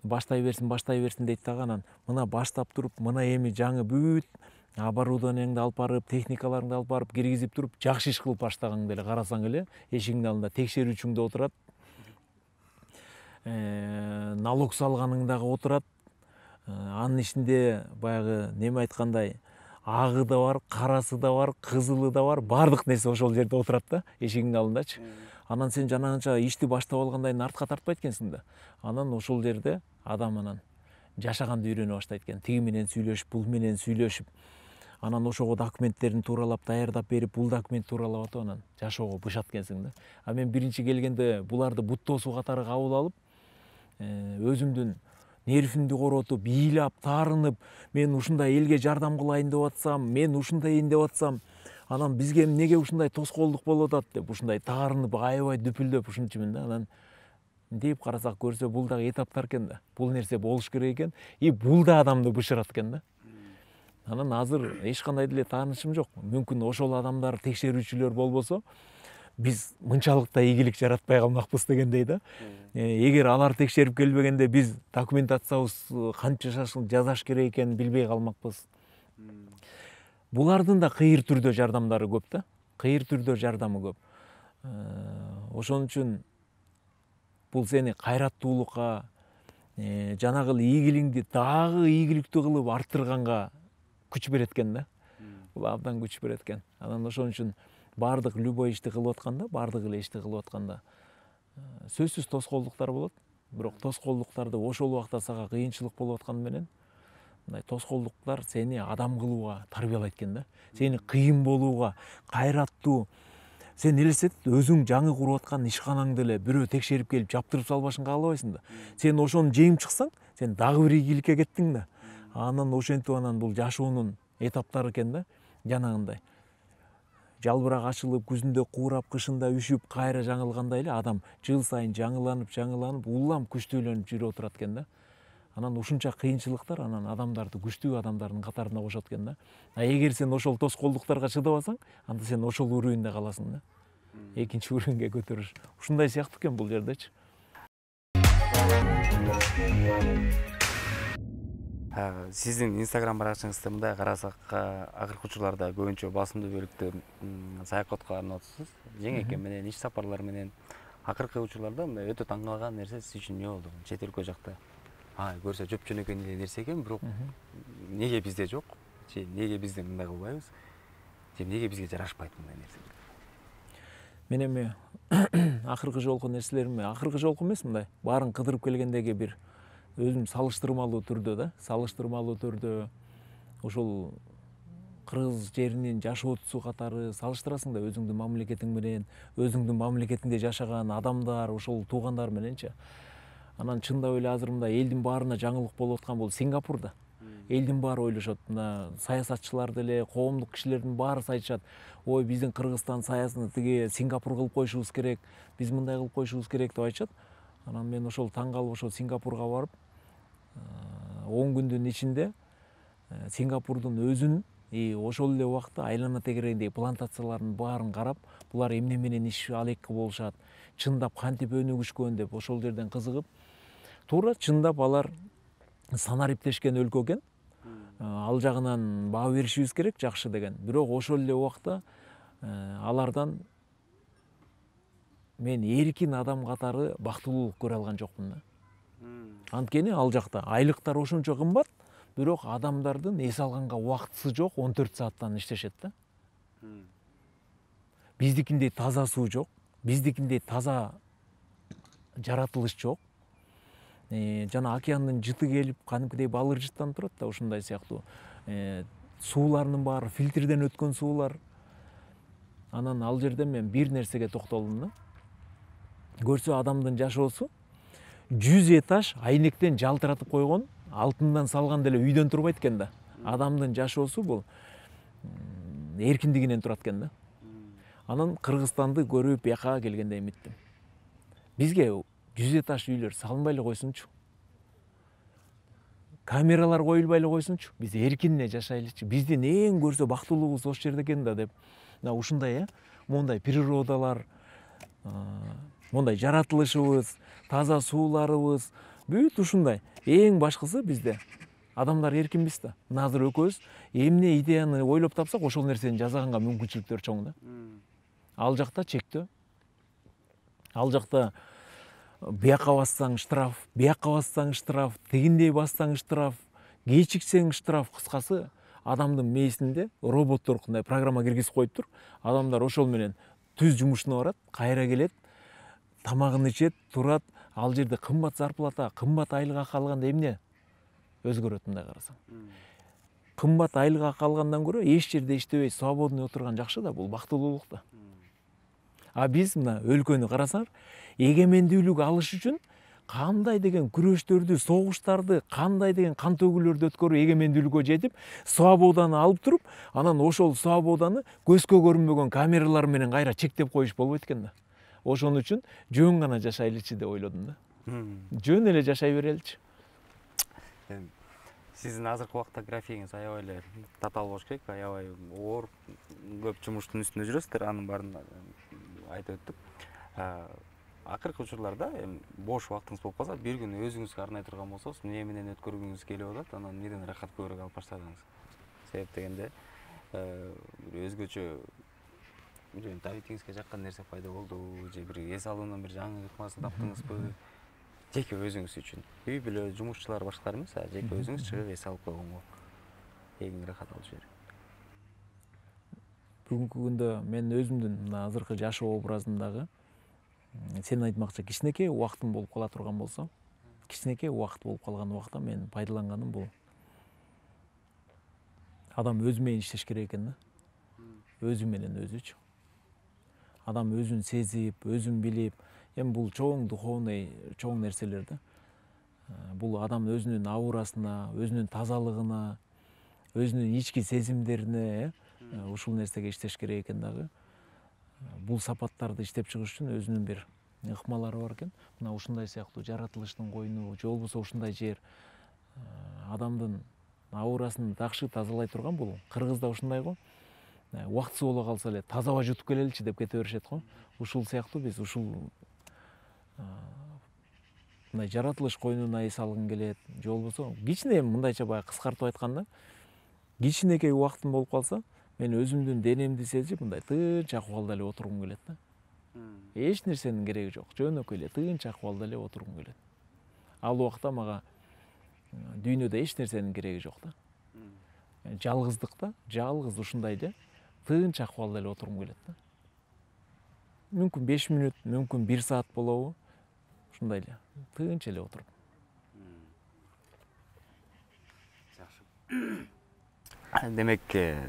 Баштай берсин дейт дагы, анан мына баштап туруп, мына эми жаңы бүт оборудованияңды алып барып, техникаларыңды алып барып киргизип туруп, жакшы иш кылып баштагаң деле карасаң эле эшигиңдин алдында текшерүүчүң да отурат, налог салганың дагы отурат. Анын ичинде баягы неме айткандай агы да бар, карасы да бар, кызылы да бар, баардык нерсе ошол жерде отурат да, эшигиңдин алдындачы. Анан сен жанагынча ишти баштап алгандай артка тартпайт экенсиң да. Анан ошол жерде адам анан жашаганды үйрөнө баштайт экен. Тиги менен сүйлөшүп, бул менен сүйлөшүп, анан ошого документтерин тууралап даярдап берип, бул документ тууралап атып, анан жашоого бышат экенсиң да. А мен биринчи келгенде буларды бут досу катары кабыл алып, өзүмдүн нервимди коротуп, ыйлап, таарынып, мен ушундай элге жардам кылайын деп атсам, мен ушундайын деп атсам, анан бизге эмнеге ушундай тоскоолдук болуп атат деп ушундай таарынып, аябай дүпүлдөп ушунчумун да. Анан мынтип карасак көрсө бул дагы этаптар экен да. Бул нерсе болуш керек экен, и бул да адамды бышырат экен да. Анан азыр эч кандай деле таанычым жок. Мүмкүн ошол адамдар текшерүүчүлөр болбосо, биз мынчалык да ийгилик жаратпай калмакпыз дегендей да. Эгер алар текшерип келбегенде биз документациябыз канча жасаш керек экенин билбей калмакпыз. Булардын да кыйыр түрдө жардамдары көп да. Кыйыр түрдө жардамы көп. Ошон үчүн бул сени кайраттуулукка, жанагы ийгилигиңди дагы ийгиликтүү кылып арттырганга күч берет экен да. Бул абдан күч берет экен. Анан ошон үчүн баардык любой ишти кылып атканда, баардык эле ишти кылып атканда сөзсүз тоскоолдуктар болот. Бирок тоскоолдуктарды ошол убакта сага кыйынчылык болуп атканы менен мындай тоскоолдуктар сени адам кылууга тарбиялайт экен да. Сени кыйын болууга, кайраттуу. Сен элестет, өзүң жаңы куруп аткан ишканаңды эле бирөө текшерип келип жаптырып салбашын каалабайсың да. Сен ошону жеңип чыксаң, сен дагы бир ийгиликке кеттиң да. Анан ошентип анан бул жашоонун этаптары экен да. Жанагындай жалбырак ачылып, күзүндө куурап, кышында үшүп, кайра жаңылгандай эле адам жыл сайын жаңыланып, улам күчтүүлөнүп жүрүп отурат экен да. Анан ушунча кыйынчылыктар анан адамдарды күчтүү адамдардын катарына кошот экен да. А эгер сен ошол тоскоолдуктарга чыдабасаң, анда сен ошол уровеньде каласың да. Экинчи уровеньге көтөрүш. Ушундай сыяктуу экен бул жердечи. Сиздин Instagram баракчаңызда мындай карасак, акыркы учурларда көбүнчө басымдуу бөлүктө саякатка арнап атасыз. Жеңекем менен, иш сапарлар менен. Акыркы учурларда мындай өтө таң калган нерсе сиз үчүн эмне болду? Чет өлкө жакта көрсө жөпжөнөкөй эле нерсе экен, бирок неге бизде жок? Же неге бизде мындай кылбайбыз? Же неге бизге жарашпайт мындай нерсе? Мен эми акыркы жолку нерселеримди, акыркы жолку эмес, мындай баарын кыдырып келгендеги бир өзүм салыштырмалуу түрдө ошол кыргыз жеринин жашоочусу катары салыштырасың да өзүңдүн мамлекетиң менен, өзүңдүн мамлекетиңде жашаган адамдар, ошол туугандар мененчи. Анан чындап эле азыр мындай элдин баарына жаңылык болуп аткан бул Сингапур да. Элдин баары ойлошот, мына саясатчылар деле, коомдук кишилердин баары айтышат, ой биздин Кыргызстан саясатын тиги Сингапур кылып койушубуз керек, биз мындай кылып койушубуз керек деп айтышат. Анан мен ошол таң калып ошол Сингапурга барып, 10 күндүн ичинде Сингапурдун өзүн ошол эле убакта айлана тегерегиндеги плантациялардын баарын карап, булар эмне менен иш алекке болушат, чындап кантип өнүгүшкөн деп ошол жерден кызыгып, туура чындап алар санариптешкен өлкө экен. ал жагынан баа беришибиз керек, жакшы деген. Бирок ошол эле убакта алардан мен эркин адам катары бактылуулук көрө алган жокмун да. Анткени ал жакта айлыктар ошончо кымбат, бирок адамдардын эс алганга убактысы жок, 14 сааттан иштешет да. Биздикиндей таза суу жок, биздикиндей таза жаратылыш жок. Жана океандын жыты келип, кадимкидей балыр жыттанып турат да, ушундай сыяктуу. Суулардын баары фильтрден өткөн суулар. Анан ал жерде мен бир нерсеге токтолдум да. Көрсө адамдын жашоосу 100 этаж айнектен жалтыратып койгон, алтындан салган деле үйдөн турбайт экен да. Адамдын жашоосу бул эркиндигинен турат экен да. Анан Кыргызстанды көрүп бияка келгенде эметтим. Бизге 100 этаж үйлөр салынбай эле койсунчу. Камералар коюлбай эле койсунчу. Биз эркине жашайлычы. Биздин эң көрсө бактылуулугубуз ошол жерде экен да деп. Мына ушундай мондай природалар, мондай жаратылышыбыз, таза сууларыбыз, бүт ушундай. Эң башкысы бизде адамдар эркинбиз да. Мына азыр экөөбүз эмне идеяны ойлоп тапсак, ошол нерсени жасаганга мүмкүнчүлүктөр чоң да. Ал жакта чектөө. Ал жакта бияка бассаң штраф, бияка бассаң штраф, тигиндей бассаң штраф, кечиксең штраф. Кыскасы адамдын мээсинде роботтор кандай программа киргизип коюптур. Адамдар ошол менен түз жумушуна барат, кайра келет, тамагын ичет, турат. Ал жерде кымбат зарплата, кымбат айлык акы алганда эмне өзгөрөт мындай карасаң? Кымбат айлык акы алгандан көрө эч жерде иштебей свободный отурган жакшы да, бул бактылуулук да. А биз мына өлкөнү карасаңар, эгемендүүлүк алыш үчүн кандай деген күрөштөрдү, согуштарды, кандай деген кан төгүүлөрдү өткөрүп эгемендүүлүккө жетип, свободаны алып туруп, анан ошол свободаны көзгө көрүнбөгөн камералар менен кайра чектеп коюш болбойт экен да. Ошон үчүн жөн гана жашайлычы деп ойлодум да. Жөн эле жашай береличи. Сиздин азыркы убакта графигиңиз аябай эле татаал болуш керек, аябай оор, көп жумуштун үстүндө жүрөсүздөр, анын баарын айтып өттүк. Акыркы учурларда бош убактыңыз болуп калса, бир күн өзүңүзгө арнай турган болсоңуз, эмне менен өткөргүңүз келип атат, анан эмнеден ырахат көбүрөөк алып баштадыңыз? Себеп дегенде өзгөчө табитиңизге жаккан нерсе пайда болдубу, же бир эс алуудан бир жаңы ыкмасы таптыңызбы? Жеке өзүңүз үчүн. Үй бүлө, жумушчулар башкалар эмес, жеке өзүңүз чыгып эс алып койгонго эң ырахат алыш берет. Бүгүнкү күндө мен өзүмдүн мына азыркы жашоо образымдагы сен айтмакчы кичинекей убактым болуп кала турган болсо, кичинекей убакыт болуп калган убакта мен пайдаланганым бул адам өзү менен иштеш керек экен да. Өзү менен өзүчү. Адам өзүн сезип, өзүн билип, эми бул чоң духовный, чоң нерселер да. Бул адам өзүнүн аурасына, өзүнүн тазалыгына, өзүнүн ички сезимдерине ушул нерсеге иштеш керек экен дагы. Бул сапаттарды иштеп чыгыш үчүн өзүнүн бир ыкмалары бар экен. Мына ушундай сыяктуу жаратылыштын койну, же болбосо ушундай жер адамдын аурасын жакшы тазалай турган бул. Кыргызда ушундай го. Убактысы боло калса эле таза аба жутуп келеличи деп кете беришет го. Ушул сыяктуу биз ушул мындай жаратылыш койнуна эс алгың келет, же болбосо кичине мындайча баягы кыскартып айтканда, кичинекей убактым болуп калса, мен өзүмдүн денемди сезип, мындай тынч акыбалда эле отургум келет да. Эч нерсенин кереги жок, жөнөкөй эле тынч акыбалда эле отургум келет. Ал убакта мага дүйнөдө эч нерсенин кереги жок да. Жалгыздыкта, жалгыз ушундай эле тынч акыбалда эле отургум келет да. Мүмкүн 5 мүнөт, мүмкүн 1 саат болобу? Ушундай эле тынч эле отуруп. Демек,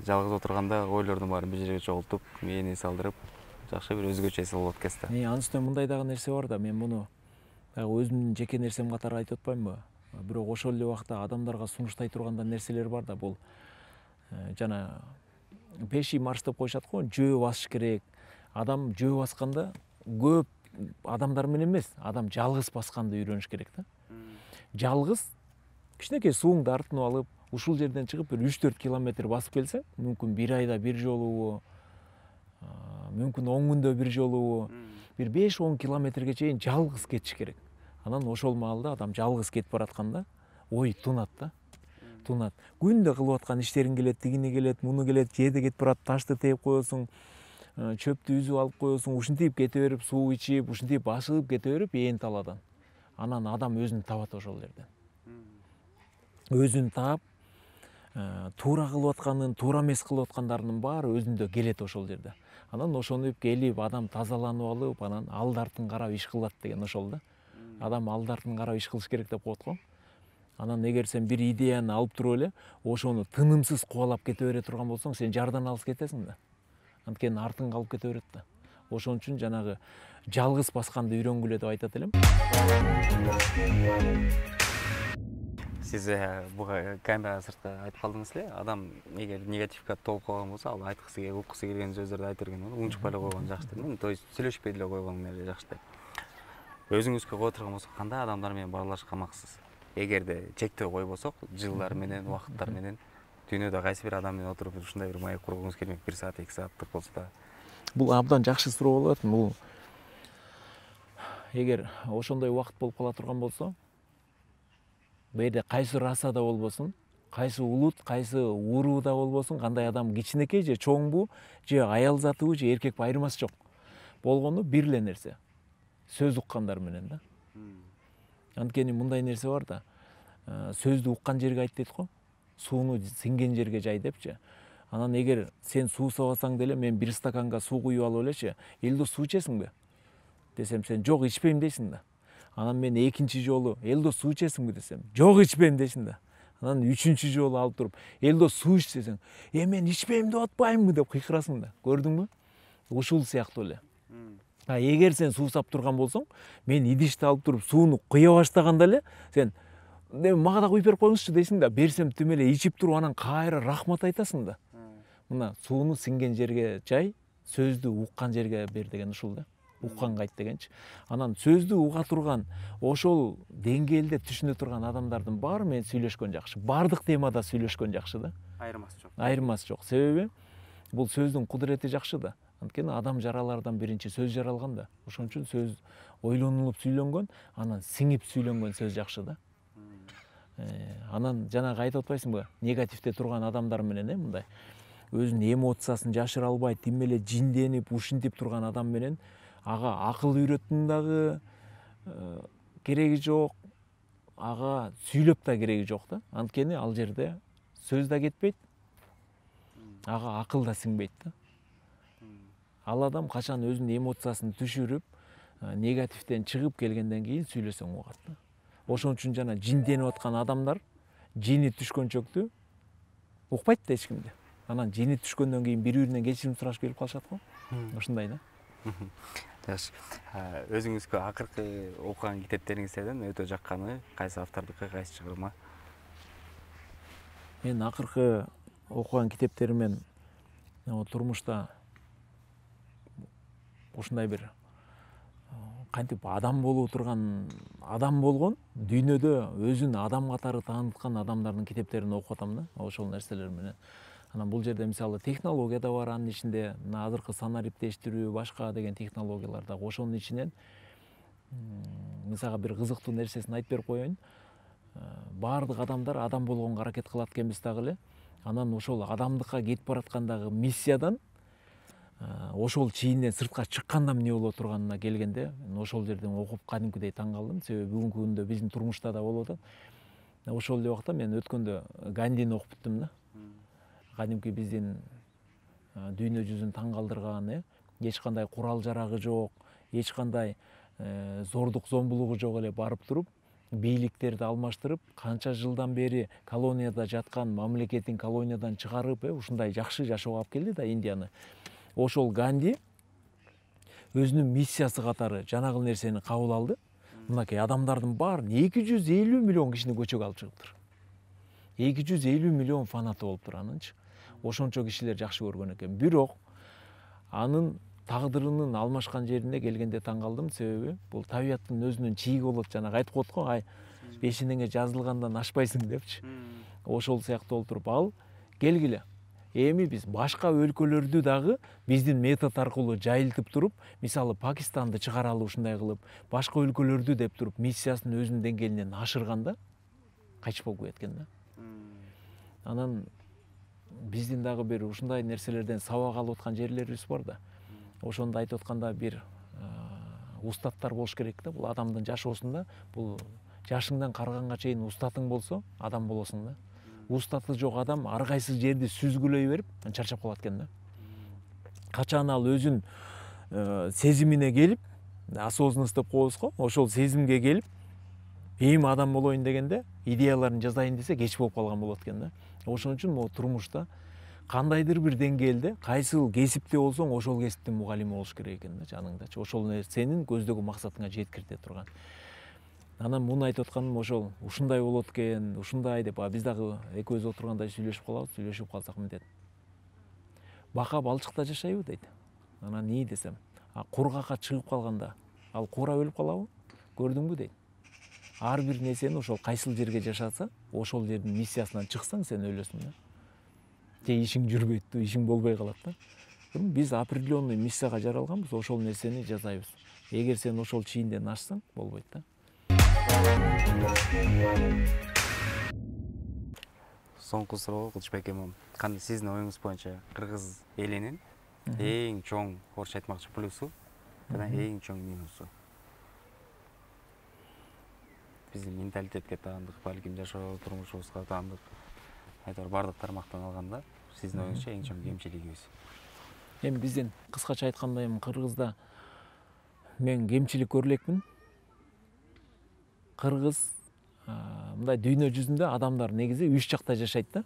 жалгыз отурганда ойлордун баарын бир жерге чогултуп, мээни эс алдырып, жакшы бир өзгөчө эс алып экен да. Анын үстүнө мындай дагы нерсе бар да, мен муну өзүмдүн жеке нерсем катары айтып атпаймынбы? Бирок ошол эле убакта адамдарга сунуштай турган нерселер бар да, бул жана пеший марш деп коюшат го, жөө басыш керек. Адам жөө басканда көп адамдар менен эмес, адам жалгыз басканды үйрөнүш керек да. Жалгыз кичинекей сууңду артынып алып, ушул жерден чыгып бир 3-4 километр басып келсең, мүмкүн 1 айда 1 жолубу, мүмкүн 10 күндө 1 жолубу, бир 5-10 километрге чейин жалгыз кетиш керек. Анан ошол маалда адам жалгыз кетип баратканда ой тунат да. тунат. Күндө кылып аткан иштериң келет, тигини келет, муну келет, жээде кетип барат, ташты тээп коесуң, чөптү үзүп алып коесуң, ушинтип кете берип, суу ичип, ушинтип ашыгып кете берип, ээн талаадан. Анан адам өзүн табат ошол жерден. Өзүн таап, туура кылып атканын, туура эмес кылып аткандарынын баары өзүндө келет ошол жерде. Анан ошону келип, адам тазаланып алып, анан алды артын карап иш кылат деген ошол да. Адам алды артын карап иш кылыш керек деп коет го. Анан эгер сен бир идеяны алып туруп эле, ошону тынымсыз кубалап кете бере турган болсоң, сен жардан алыс кетесиң да. Анткени артың калып кете берет да. Ошон үчүн жанагы жалгыз басканды үйрөнгүлө деп айтат элем. Сиз буга камера сыртка айтып калдыңыз эле, адам эгер негативге толуп калган болсо, ал айткысы келип, уккусу келген сөздөрдү айта берген болот, унчукпай эле койгон жакшы деп. То есть сүйлөшпөй деле койгон эле жакшы деп. Өзүңүзгө кое турган болсок, кандай адамдар менен баарлашканмаксыз? Эгерде чектөө койбосок, жылдар менен, убакыттар менен дүйнөдө кайсы бир адам менен отуруп ушундай бир маек кургуңуз келмек, 1 саат, 2 сааттык болсо да? Бул абдан жакшы суроо болот. Бул эгер ошондой убакыт болуп кала турган болсо, бул жерде кайсы расада болбосун, кайсы улут, кайсы урууда болбосун, кандай адам кичинекей же чоңбу, же аял затыбы, же эркекпи айырмасы жок. Болгону бир эле нерсе. Сөз уккандар менен да. Анткени мындай нерсе бар да. Сөздү уккан жерге айт дейт го. Сууну сиңген жерге жай депчи. Анан эгер сен суу сабасаң деле, мен 1 стаканга суу куюп алып элечи, Элдос суу ичесиңби? Десем, сен жок, ичпейм дейсиң да. Анан мен экинчи жолу, Элдос суу ичесиңби десем, жок, ичпейм дейсиң да. Анан үчүнчү жолу алып туруп, Элдос суу ич десең, мен ичпейм деп атпаймынбы деп кыйкырасың да. Көрдүңбү? Ушул сыяктуу эле. Эгер сен суу сап турган болсоң, мен идишти алып туруп сууну куя баштаганда эле, сен мага да куюп берип коюңузчу дейсиң да. Берсем түм эле ичип туруп, анан кайра рахмат айтасың да. Мына сууну сиңген жерге жай, сөздү уккан жерге бер деген ушул да. Укканга айт дегенчи. Анан сөздү уга турган, ошол деңгээлде түшүнө турган адамдардын баары менен сүйлөшкөн жакшы. Бардык темада сүйлөшкөн жакшы да. Айырмасы жок. Айырмасы жок. Себеби бул сөздүн кудурети жакшы да. Анткени адам жаралардан биринчи сөз жаралган да. Ошон үчүн сөз ойлонулуп сүйлөнгөн, анан сиңип сүйлөнгөн сөз жакшы да. Анан жанагы айтып атпайсыңбы, негативде турган адамдар менен мындай өзүнүн эмоциясын жашыра албай, тим эле жинденип, ушинтип турган адам менен ага акыл үйрөттүн дагы кереги жок, ага сүйлөп да кереги жок да. Анткени ал жерде сөз да кетпейт, ага акыл да сиңбейт да. Ал адам качан өзүнүн эмоциясын түшүрүп, негативден чыгып келгенден кийин сүйлөсөң угат да. Ошон үчүн жана жинденип аткан адамдар жини түшкөнчөктү укпайт да эч кимди. Анан жини түшкөндөн кийин бири-биринен кечирим сурашып келип калышат го. Ошондой да. Жакшы. Өзүңүзгө акыркы окуган китептериңизден өтө жакканы кайсы автордуку, кайсы чыгарма? Мен акыркы окуган китептеримен турмушта ушундай бир кантип адам болуу турган адам болгон, дүйнөдө өзүн адам катары тааныткан адамдардын китептерин окуп атам да, ошол нерселер менен. Анан бул жерде мисалы технология да бар, анын ичинде мына азыркы санаа риптештирүү, башка деген технологиялар да. Ошонун ичинен мисалга бир кызыктуу нерсесин айтып берип коеюн. Баардык адамдар адам болгонго аракет кылат экенбиз дагы эле. Анан ошол адамдыкка кетип бараткандагы миссиядан ошол чийинден сыртка чыкканда эмне боло турганына келгенде, ошол жерден окуп кадимкидей таң калдым. Себеби бүгүнкү күндө биздин турмушта да болуп атат. Ошол эле убакта мен өткөндө Гандини окуп бүттүм да. Кадимки биздин дүйнө жүзүн таң калтырган, эч кандай курал жарагы жок, эч кандай зордук зомбулугу жок эле барып туруп, бийликтерди алмаштырып, канча жылдан бери колонияда жаткан мамлекетин колониядан чыгарып, ушундай жакшы жашоого алып келди да Индияны. Ошол Ганди өзүнүн миссиясы катары жанагыл нерсени кабыл алды. Мынакей адамдардын баарын 250 миллион кишини көчөгө алып чыгыптыр. 250 миллион фанаты болуптур анынчы. Ошончо кишилер жакшы көргөн экен. Бирок анын тагдырынын алмашкан жерине келгенде таң калдым. Себеби бул табияттын өзүнүн чийиги болот. Жанагы айтып коет го, бешинеңе жазылгандан ашпайсың депчи. Ошол сыяктуу болуп туруп, ал келгиле. Эми биз башка өлкөлөрдү дагы биздин метод аркылуу жайылтып туруп, мисалы Пакистанды чыгаралы ушундай кылып, башка өлкөлөрдү деп туруп, миссиясын өзүнүн деңгээлинен ашырганда кайтыш болуп кеткен да. Анан биздин дагы бир ушундай нерселерден сабак алып аткан жерлерибиз бар да. Ошондо айтып атканда бир устаттар болуш керек да. Бул адамдын жашоосунда бул жашыңдан карыганга чейин устатың болсо адам болосуң да. Устаты жок адам ар кайсы жерди сүзгүлөй берип чарчап калат экен да. Качан ал өзүн сезимине келип, осознанность деп коебуз го, ошол сезимге келип, эми адам болоюн дегенде, идеяларын жазайын десе кеч болуп калган болот экен да. Ошон үчүн могу турмушта кандайдыр бир деңгээлде кайсыл кесипте болсоң, ошол кесиптин мугалими болуш керек экен да, жаныңдачы. Ошол нерсенин көздөгөн максатыңа жеткирте турган. Анан муну айтып атканым ошол ушундай болот экен, ушундай деп, биз дагы экөөбүз отурганда сүйлөшүп калсак мынтет. Бака балчыкта жашайбы дейт. Анан ии десем, кургакка чыгып калганда, ал куура өлүп калабы? Көрдүңбү дейт. Ар бир нерсени ошол кайсыл жерге жашаса, ошол жердин миссиясынан чыксаң, сен өлөсүң да. Же ишиң жүрбөйт, ишиң болбой калат да. Биз определенный миссияга жаралганбыз, ошол нерсени жасайбыз. Эгер сен ошол чийинден ашсаң, болбойт да. Соңку суроо Кылычбек эмом. Кандай сиздин оюңуз боюнча кыргыз элинин эң чоң орусча айтмакчы плюсу жана эң чоң минусу? Биздин менталитетке таандык, балким жашоо турмушубузга таандык, айтор бардык тармактан алганда сиздин оюңузча эң чоң кемчилигибиз? Эми биздин кыскача айтканда эми кыргызда мен кемчилик көрө элекмин. Кыргыз мындай дүйнө жүзүндө адамдар негизи 3 жакта жашайт да.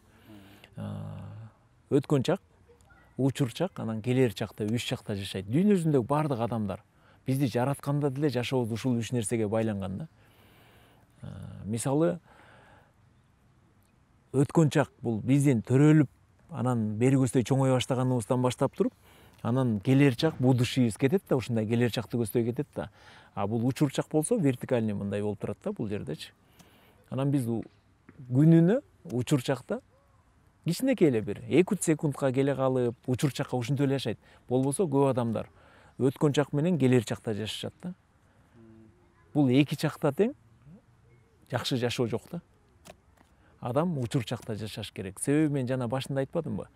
Өткөн чак, учур чак, анан келер чак деп 3 жакта жашайт. Дүйнө жүзүндөгү бардык адамдар бизди жаратканда деле жашообуз ушул 3 нерсеге байланган да. Мисалы, өткөн чак бул биздин төрөлүп, анан бери көздөй чоңое баштаганыбыздан баштап туруп, анан келер чак будущийибиз кетет да, ушундай келер чакты көздөй кетет да. Бул учур чак болсо вертикальный мындай болуп турат да, бул жердечи. Анан биз күнүнө учур чакта кичинекей эле бир 2-3 секундка келе калып, учур чакка ушинтип эле жашайт. Болбосо көп адамдар өткөн чак менен келер чакта жашашат да. Бул эки чакта тең жакшы жашоо жок да. Адам учур чакта жашаш керек. Себеби мен жана башында айтпадымбы?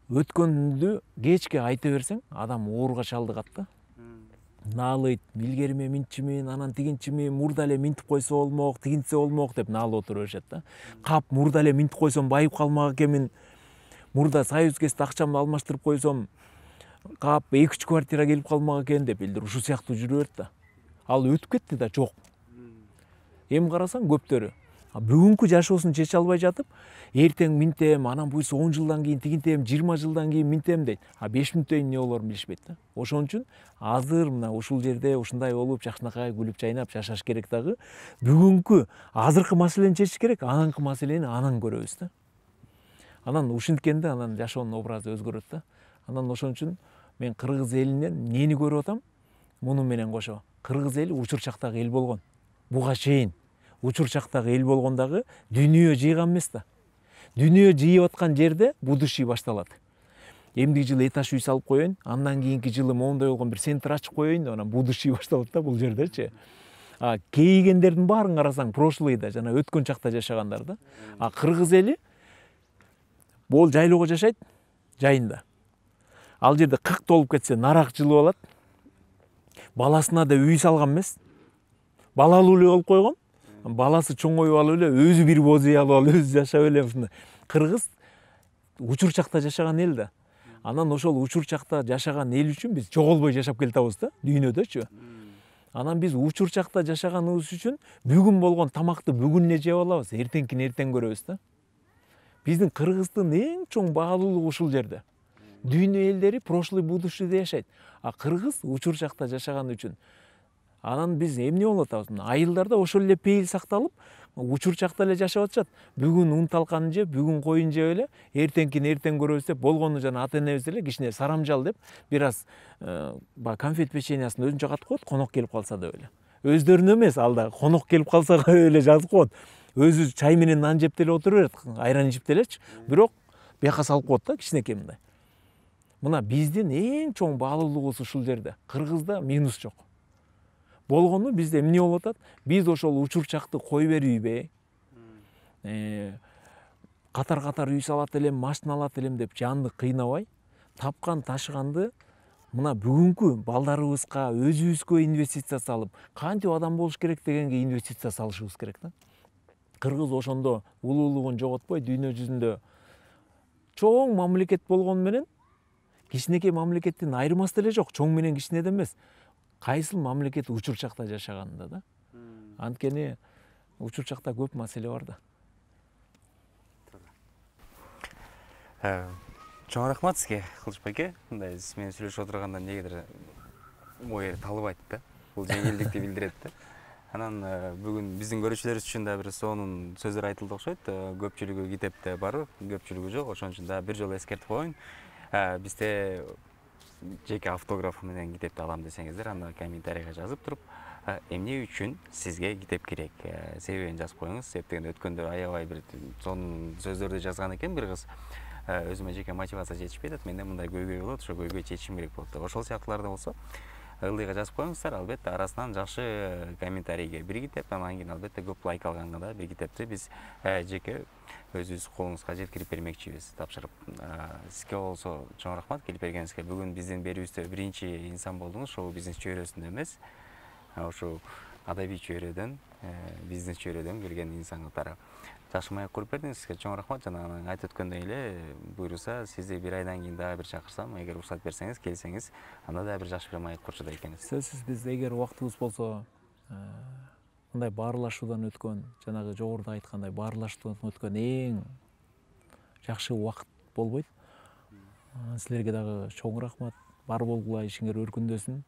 Өткөндү кечке айта берсең, адам ооруга чалдыгат да. Наалыйт, илгериме минтчимин, анан тигинчимин, мурда эле минтип койсо болмок, тигинтсе болмок деп наалып отура беришет да. Кап мурда эле минтип койсом байып калмак экенмин. Мурда союз кезде акчамды алмаштырып койсом, кап 2-3 квартира келип калмак экен деп элдер ушул сыяктуу жүрө берет да. Ал өтүп кетти да, жок. Эми карасаң көптөрү бүгүнкү жашоосун чече албай жатып, эртең минтем, анан буйрса 10 жылдан кийин тигинтем, 20 жылдан кийин минтем дейт. 5 мүнөттөн эмне болорун билишпейт да. Ошон үчүн азыр мына ушул жерде ушундай болуп, жакшынакай күлүп жайнап жашаш керек дагы. Бүгүнкү азыркы маселени чечиш керек, ананкы маселени анан көрөбүз да. Анан ушинткенде анан жашоонун образы өзгөрөт да. Анан ошон үчүн мен кыргыз элинен эмнени көрүп атам? Муну менен кошо. Кыргыз эли учур чактагы эл болгон. Буга чейин учур чактагы эл болгондагы дүйнө жыйган эмес да. Дүйнө жыйып аткан жерде будущий башталат. Эмдиги жылы этаж үй салып коеюн, андан кийинки жылы моундай болгон бир центр ачып коеюн, анан будущий башталат да бул жердечи. Кейигендердин баарын карасаң, прошлыйда жана өткөн чакта жашагандар да. Кыргыз эли бул жайлоого жашайт, жайында. Ал жерде 40 толуп кетсе, нарак жылып алат. Баласына да үй салган эмес. Балалуу эле болуп койгон. Баласы чоңоюп алып эле, өзү бир боз үй алып алып, өзү жашап эле ушундай. Кыргыз учур чакта жашаган эл да. Анан ошол учур чакта жашаган эл үчүн биз жоголбой жашап келатабыз да, дүйнөдөчү. Анан биз учур чакта жашаганыбыз үчүн бүгүн болгон тамакты бүгүн эле жеп алабыз, эртеңкини эртең көрөбүз да. Биздин Кыргыздын эң чоң баалуулугу ушул жерде. Дүйнө элдери прошлый будущийде жашайт. Кыргыз учур чакта жашаган үчүн. Анан биз эмне болуп атабыз? Айылдарда ошол эле пейил сакталып, учур чакта эле жашап атышат. Бүгүн ун талканын жеп, бүгүн коюн жеп эле, эртеңкини эртең көрөбүз деп, болгону жана ата-энебиз эле кичине сарамжал деп, бир аз конфет печеньясын өзүнчө катып коет, конок келип калса деп эле. Өздөрүнө эмес, алда конок келип калса эле жазып коет. Өзү чай менен нан жеп деле отура берет, айран ичип делечи. Бирок бияка салып коет да, кичинекей мындай. Мына биздин эң чоң баалуулугубуз ушул жерде. Кыргызда минус жок. Болгону бизде эмне болуп атат? Биз ошол учур чакты кой берүүбү, катар үй салат элем, машина алат элем деп жанды кыйнабай, тапкан ташыганды мына бүгүнкү балдарыбызга, өзүбүзгө инвестиция салып, кантип адам болуш керек дегенге инвестиция салышыбыз керек да. Кыргыз ошондо улуулугун жоготпой, дүйнө жүзүндө чоң мамлекет болгону менен кичинекей мамлекеттен айырмасы деле жок. Чоң менен кичинеден эмес. Кайсыл мамлекет учурчакта жашаганында да. Анткени учурчакта көп маселе бар да. Чоң рахмат сизге, Кылычбек аке. Мындай сиз менен сүйлөшүп отурганда эмнегедир ой талыбайт да. Бул жеңилдикти билдирет да. Анан бүгүн биздин көрүүчүлөрүбүз үчүн да бир сонун сөздөр айтылды окшойт. Көпчүлүгү китепте бар, көпчүлүгү жок. Ошон үчүн да бир жолу эскертип коеюн. Бизде жеке автограф менен китепти алам десеңиздер, анда комментарийга жазып туруп, эмне үчүн сизге китеп керек, себебин жазып коюңуз. Себеп дегенде өткөндө аябай бир сонун сөздөрдү жазган экен бир кыз. Өзүмө жеке мотивация жетишпей атат, менде мындай көйгөй болот, ошо көйгөй чечишим керек болот деп. Ошол сыяктууларда болсо ылдыйга жазып коюңуздар. Албетте арасынан жакшы комментарийге бир китеп, анан кийин албетте көп лайк алганга да бир китепти биз жеке өзүбүз колуңузга жеткирип бермекчибиз, тапшырып. Сизге болсо чоң рахмат келип бергениңизге. Бүгүн биздин берүүбүздө биринчи инсан болдуңуз, шоу бизнес чөйрөсүндө эмес, ошо адабий чөйрөдөн, бизнес чөйрөдөн келген инсан катары жакшы маек куруп бердиңиз. Сизге чоң рахмат. Жана айтып өткөндөй эле, буйруса сизди бир айдан кийин дагы бир чакырсам, эгер уруксат берсеңиз, келсеңиз, анда дагы бир жакшы бир маек курчудай экенбиз. Сөзсүз биз эгер убактыбыз болсо, мындай баарлашуудан өткөн, жанагы жогоруда айткандай баарлашуудан өткөн эң жакшы убакыт болбойт. Силерге дагы чоң рахмат. Бар болгула, ишиңер өркүндөсүн.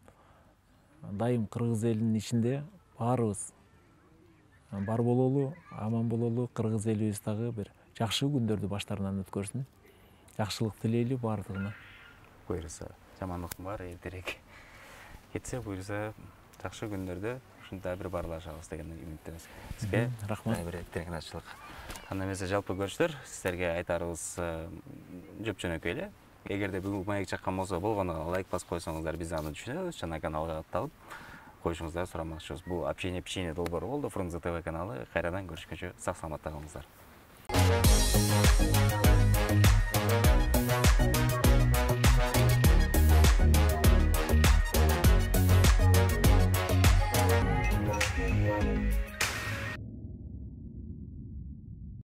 Дайым кыргыз элинин ичинде баарыбыз бар бололу, аман бололу, кыргыз элибиз дагы бир жакшы күндөрдү баштарынан өткөрсүн. Жакшылык тилейли баардыгына. Буйруса, жамандыктын баары эртерээк кетсе, буйруса жакшы күндөрдө ушундай бир баарлашабыз деген үмүттөбүз. Сизге рахмат. Бир тынччылык. Анда эмесе жалпы көрүүчүлөр, сиздерге айтарыбыз жөп-жөнөкөй эле. Эгерде бүгүн маек чаккан болсо, болгону лайк басып койсоңуздар, биз аны түшүнөбүз. Жана каналга катталып коюшуңузду сурамакчыбыз. Бул общение долбоору болду. Фрунзе ТВ каналы. Кайрадан көрүшкөнчө сак саламатта калыңыздар.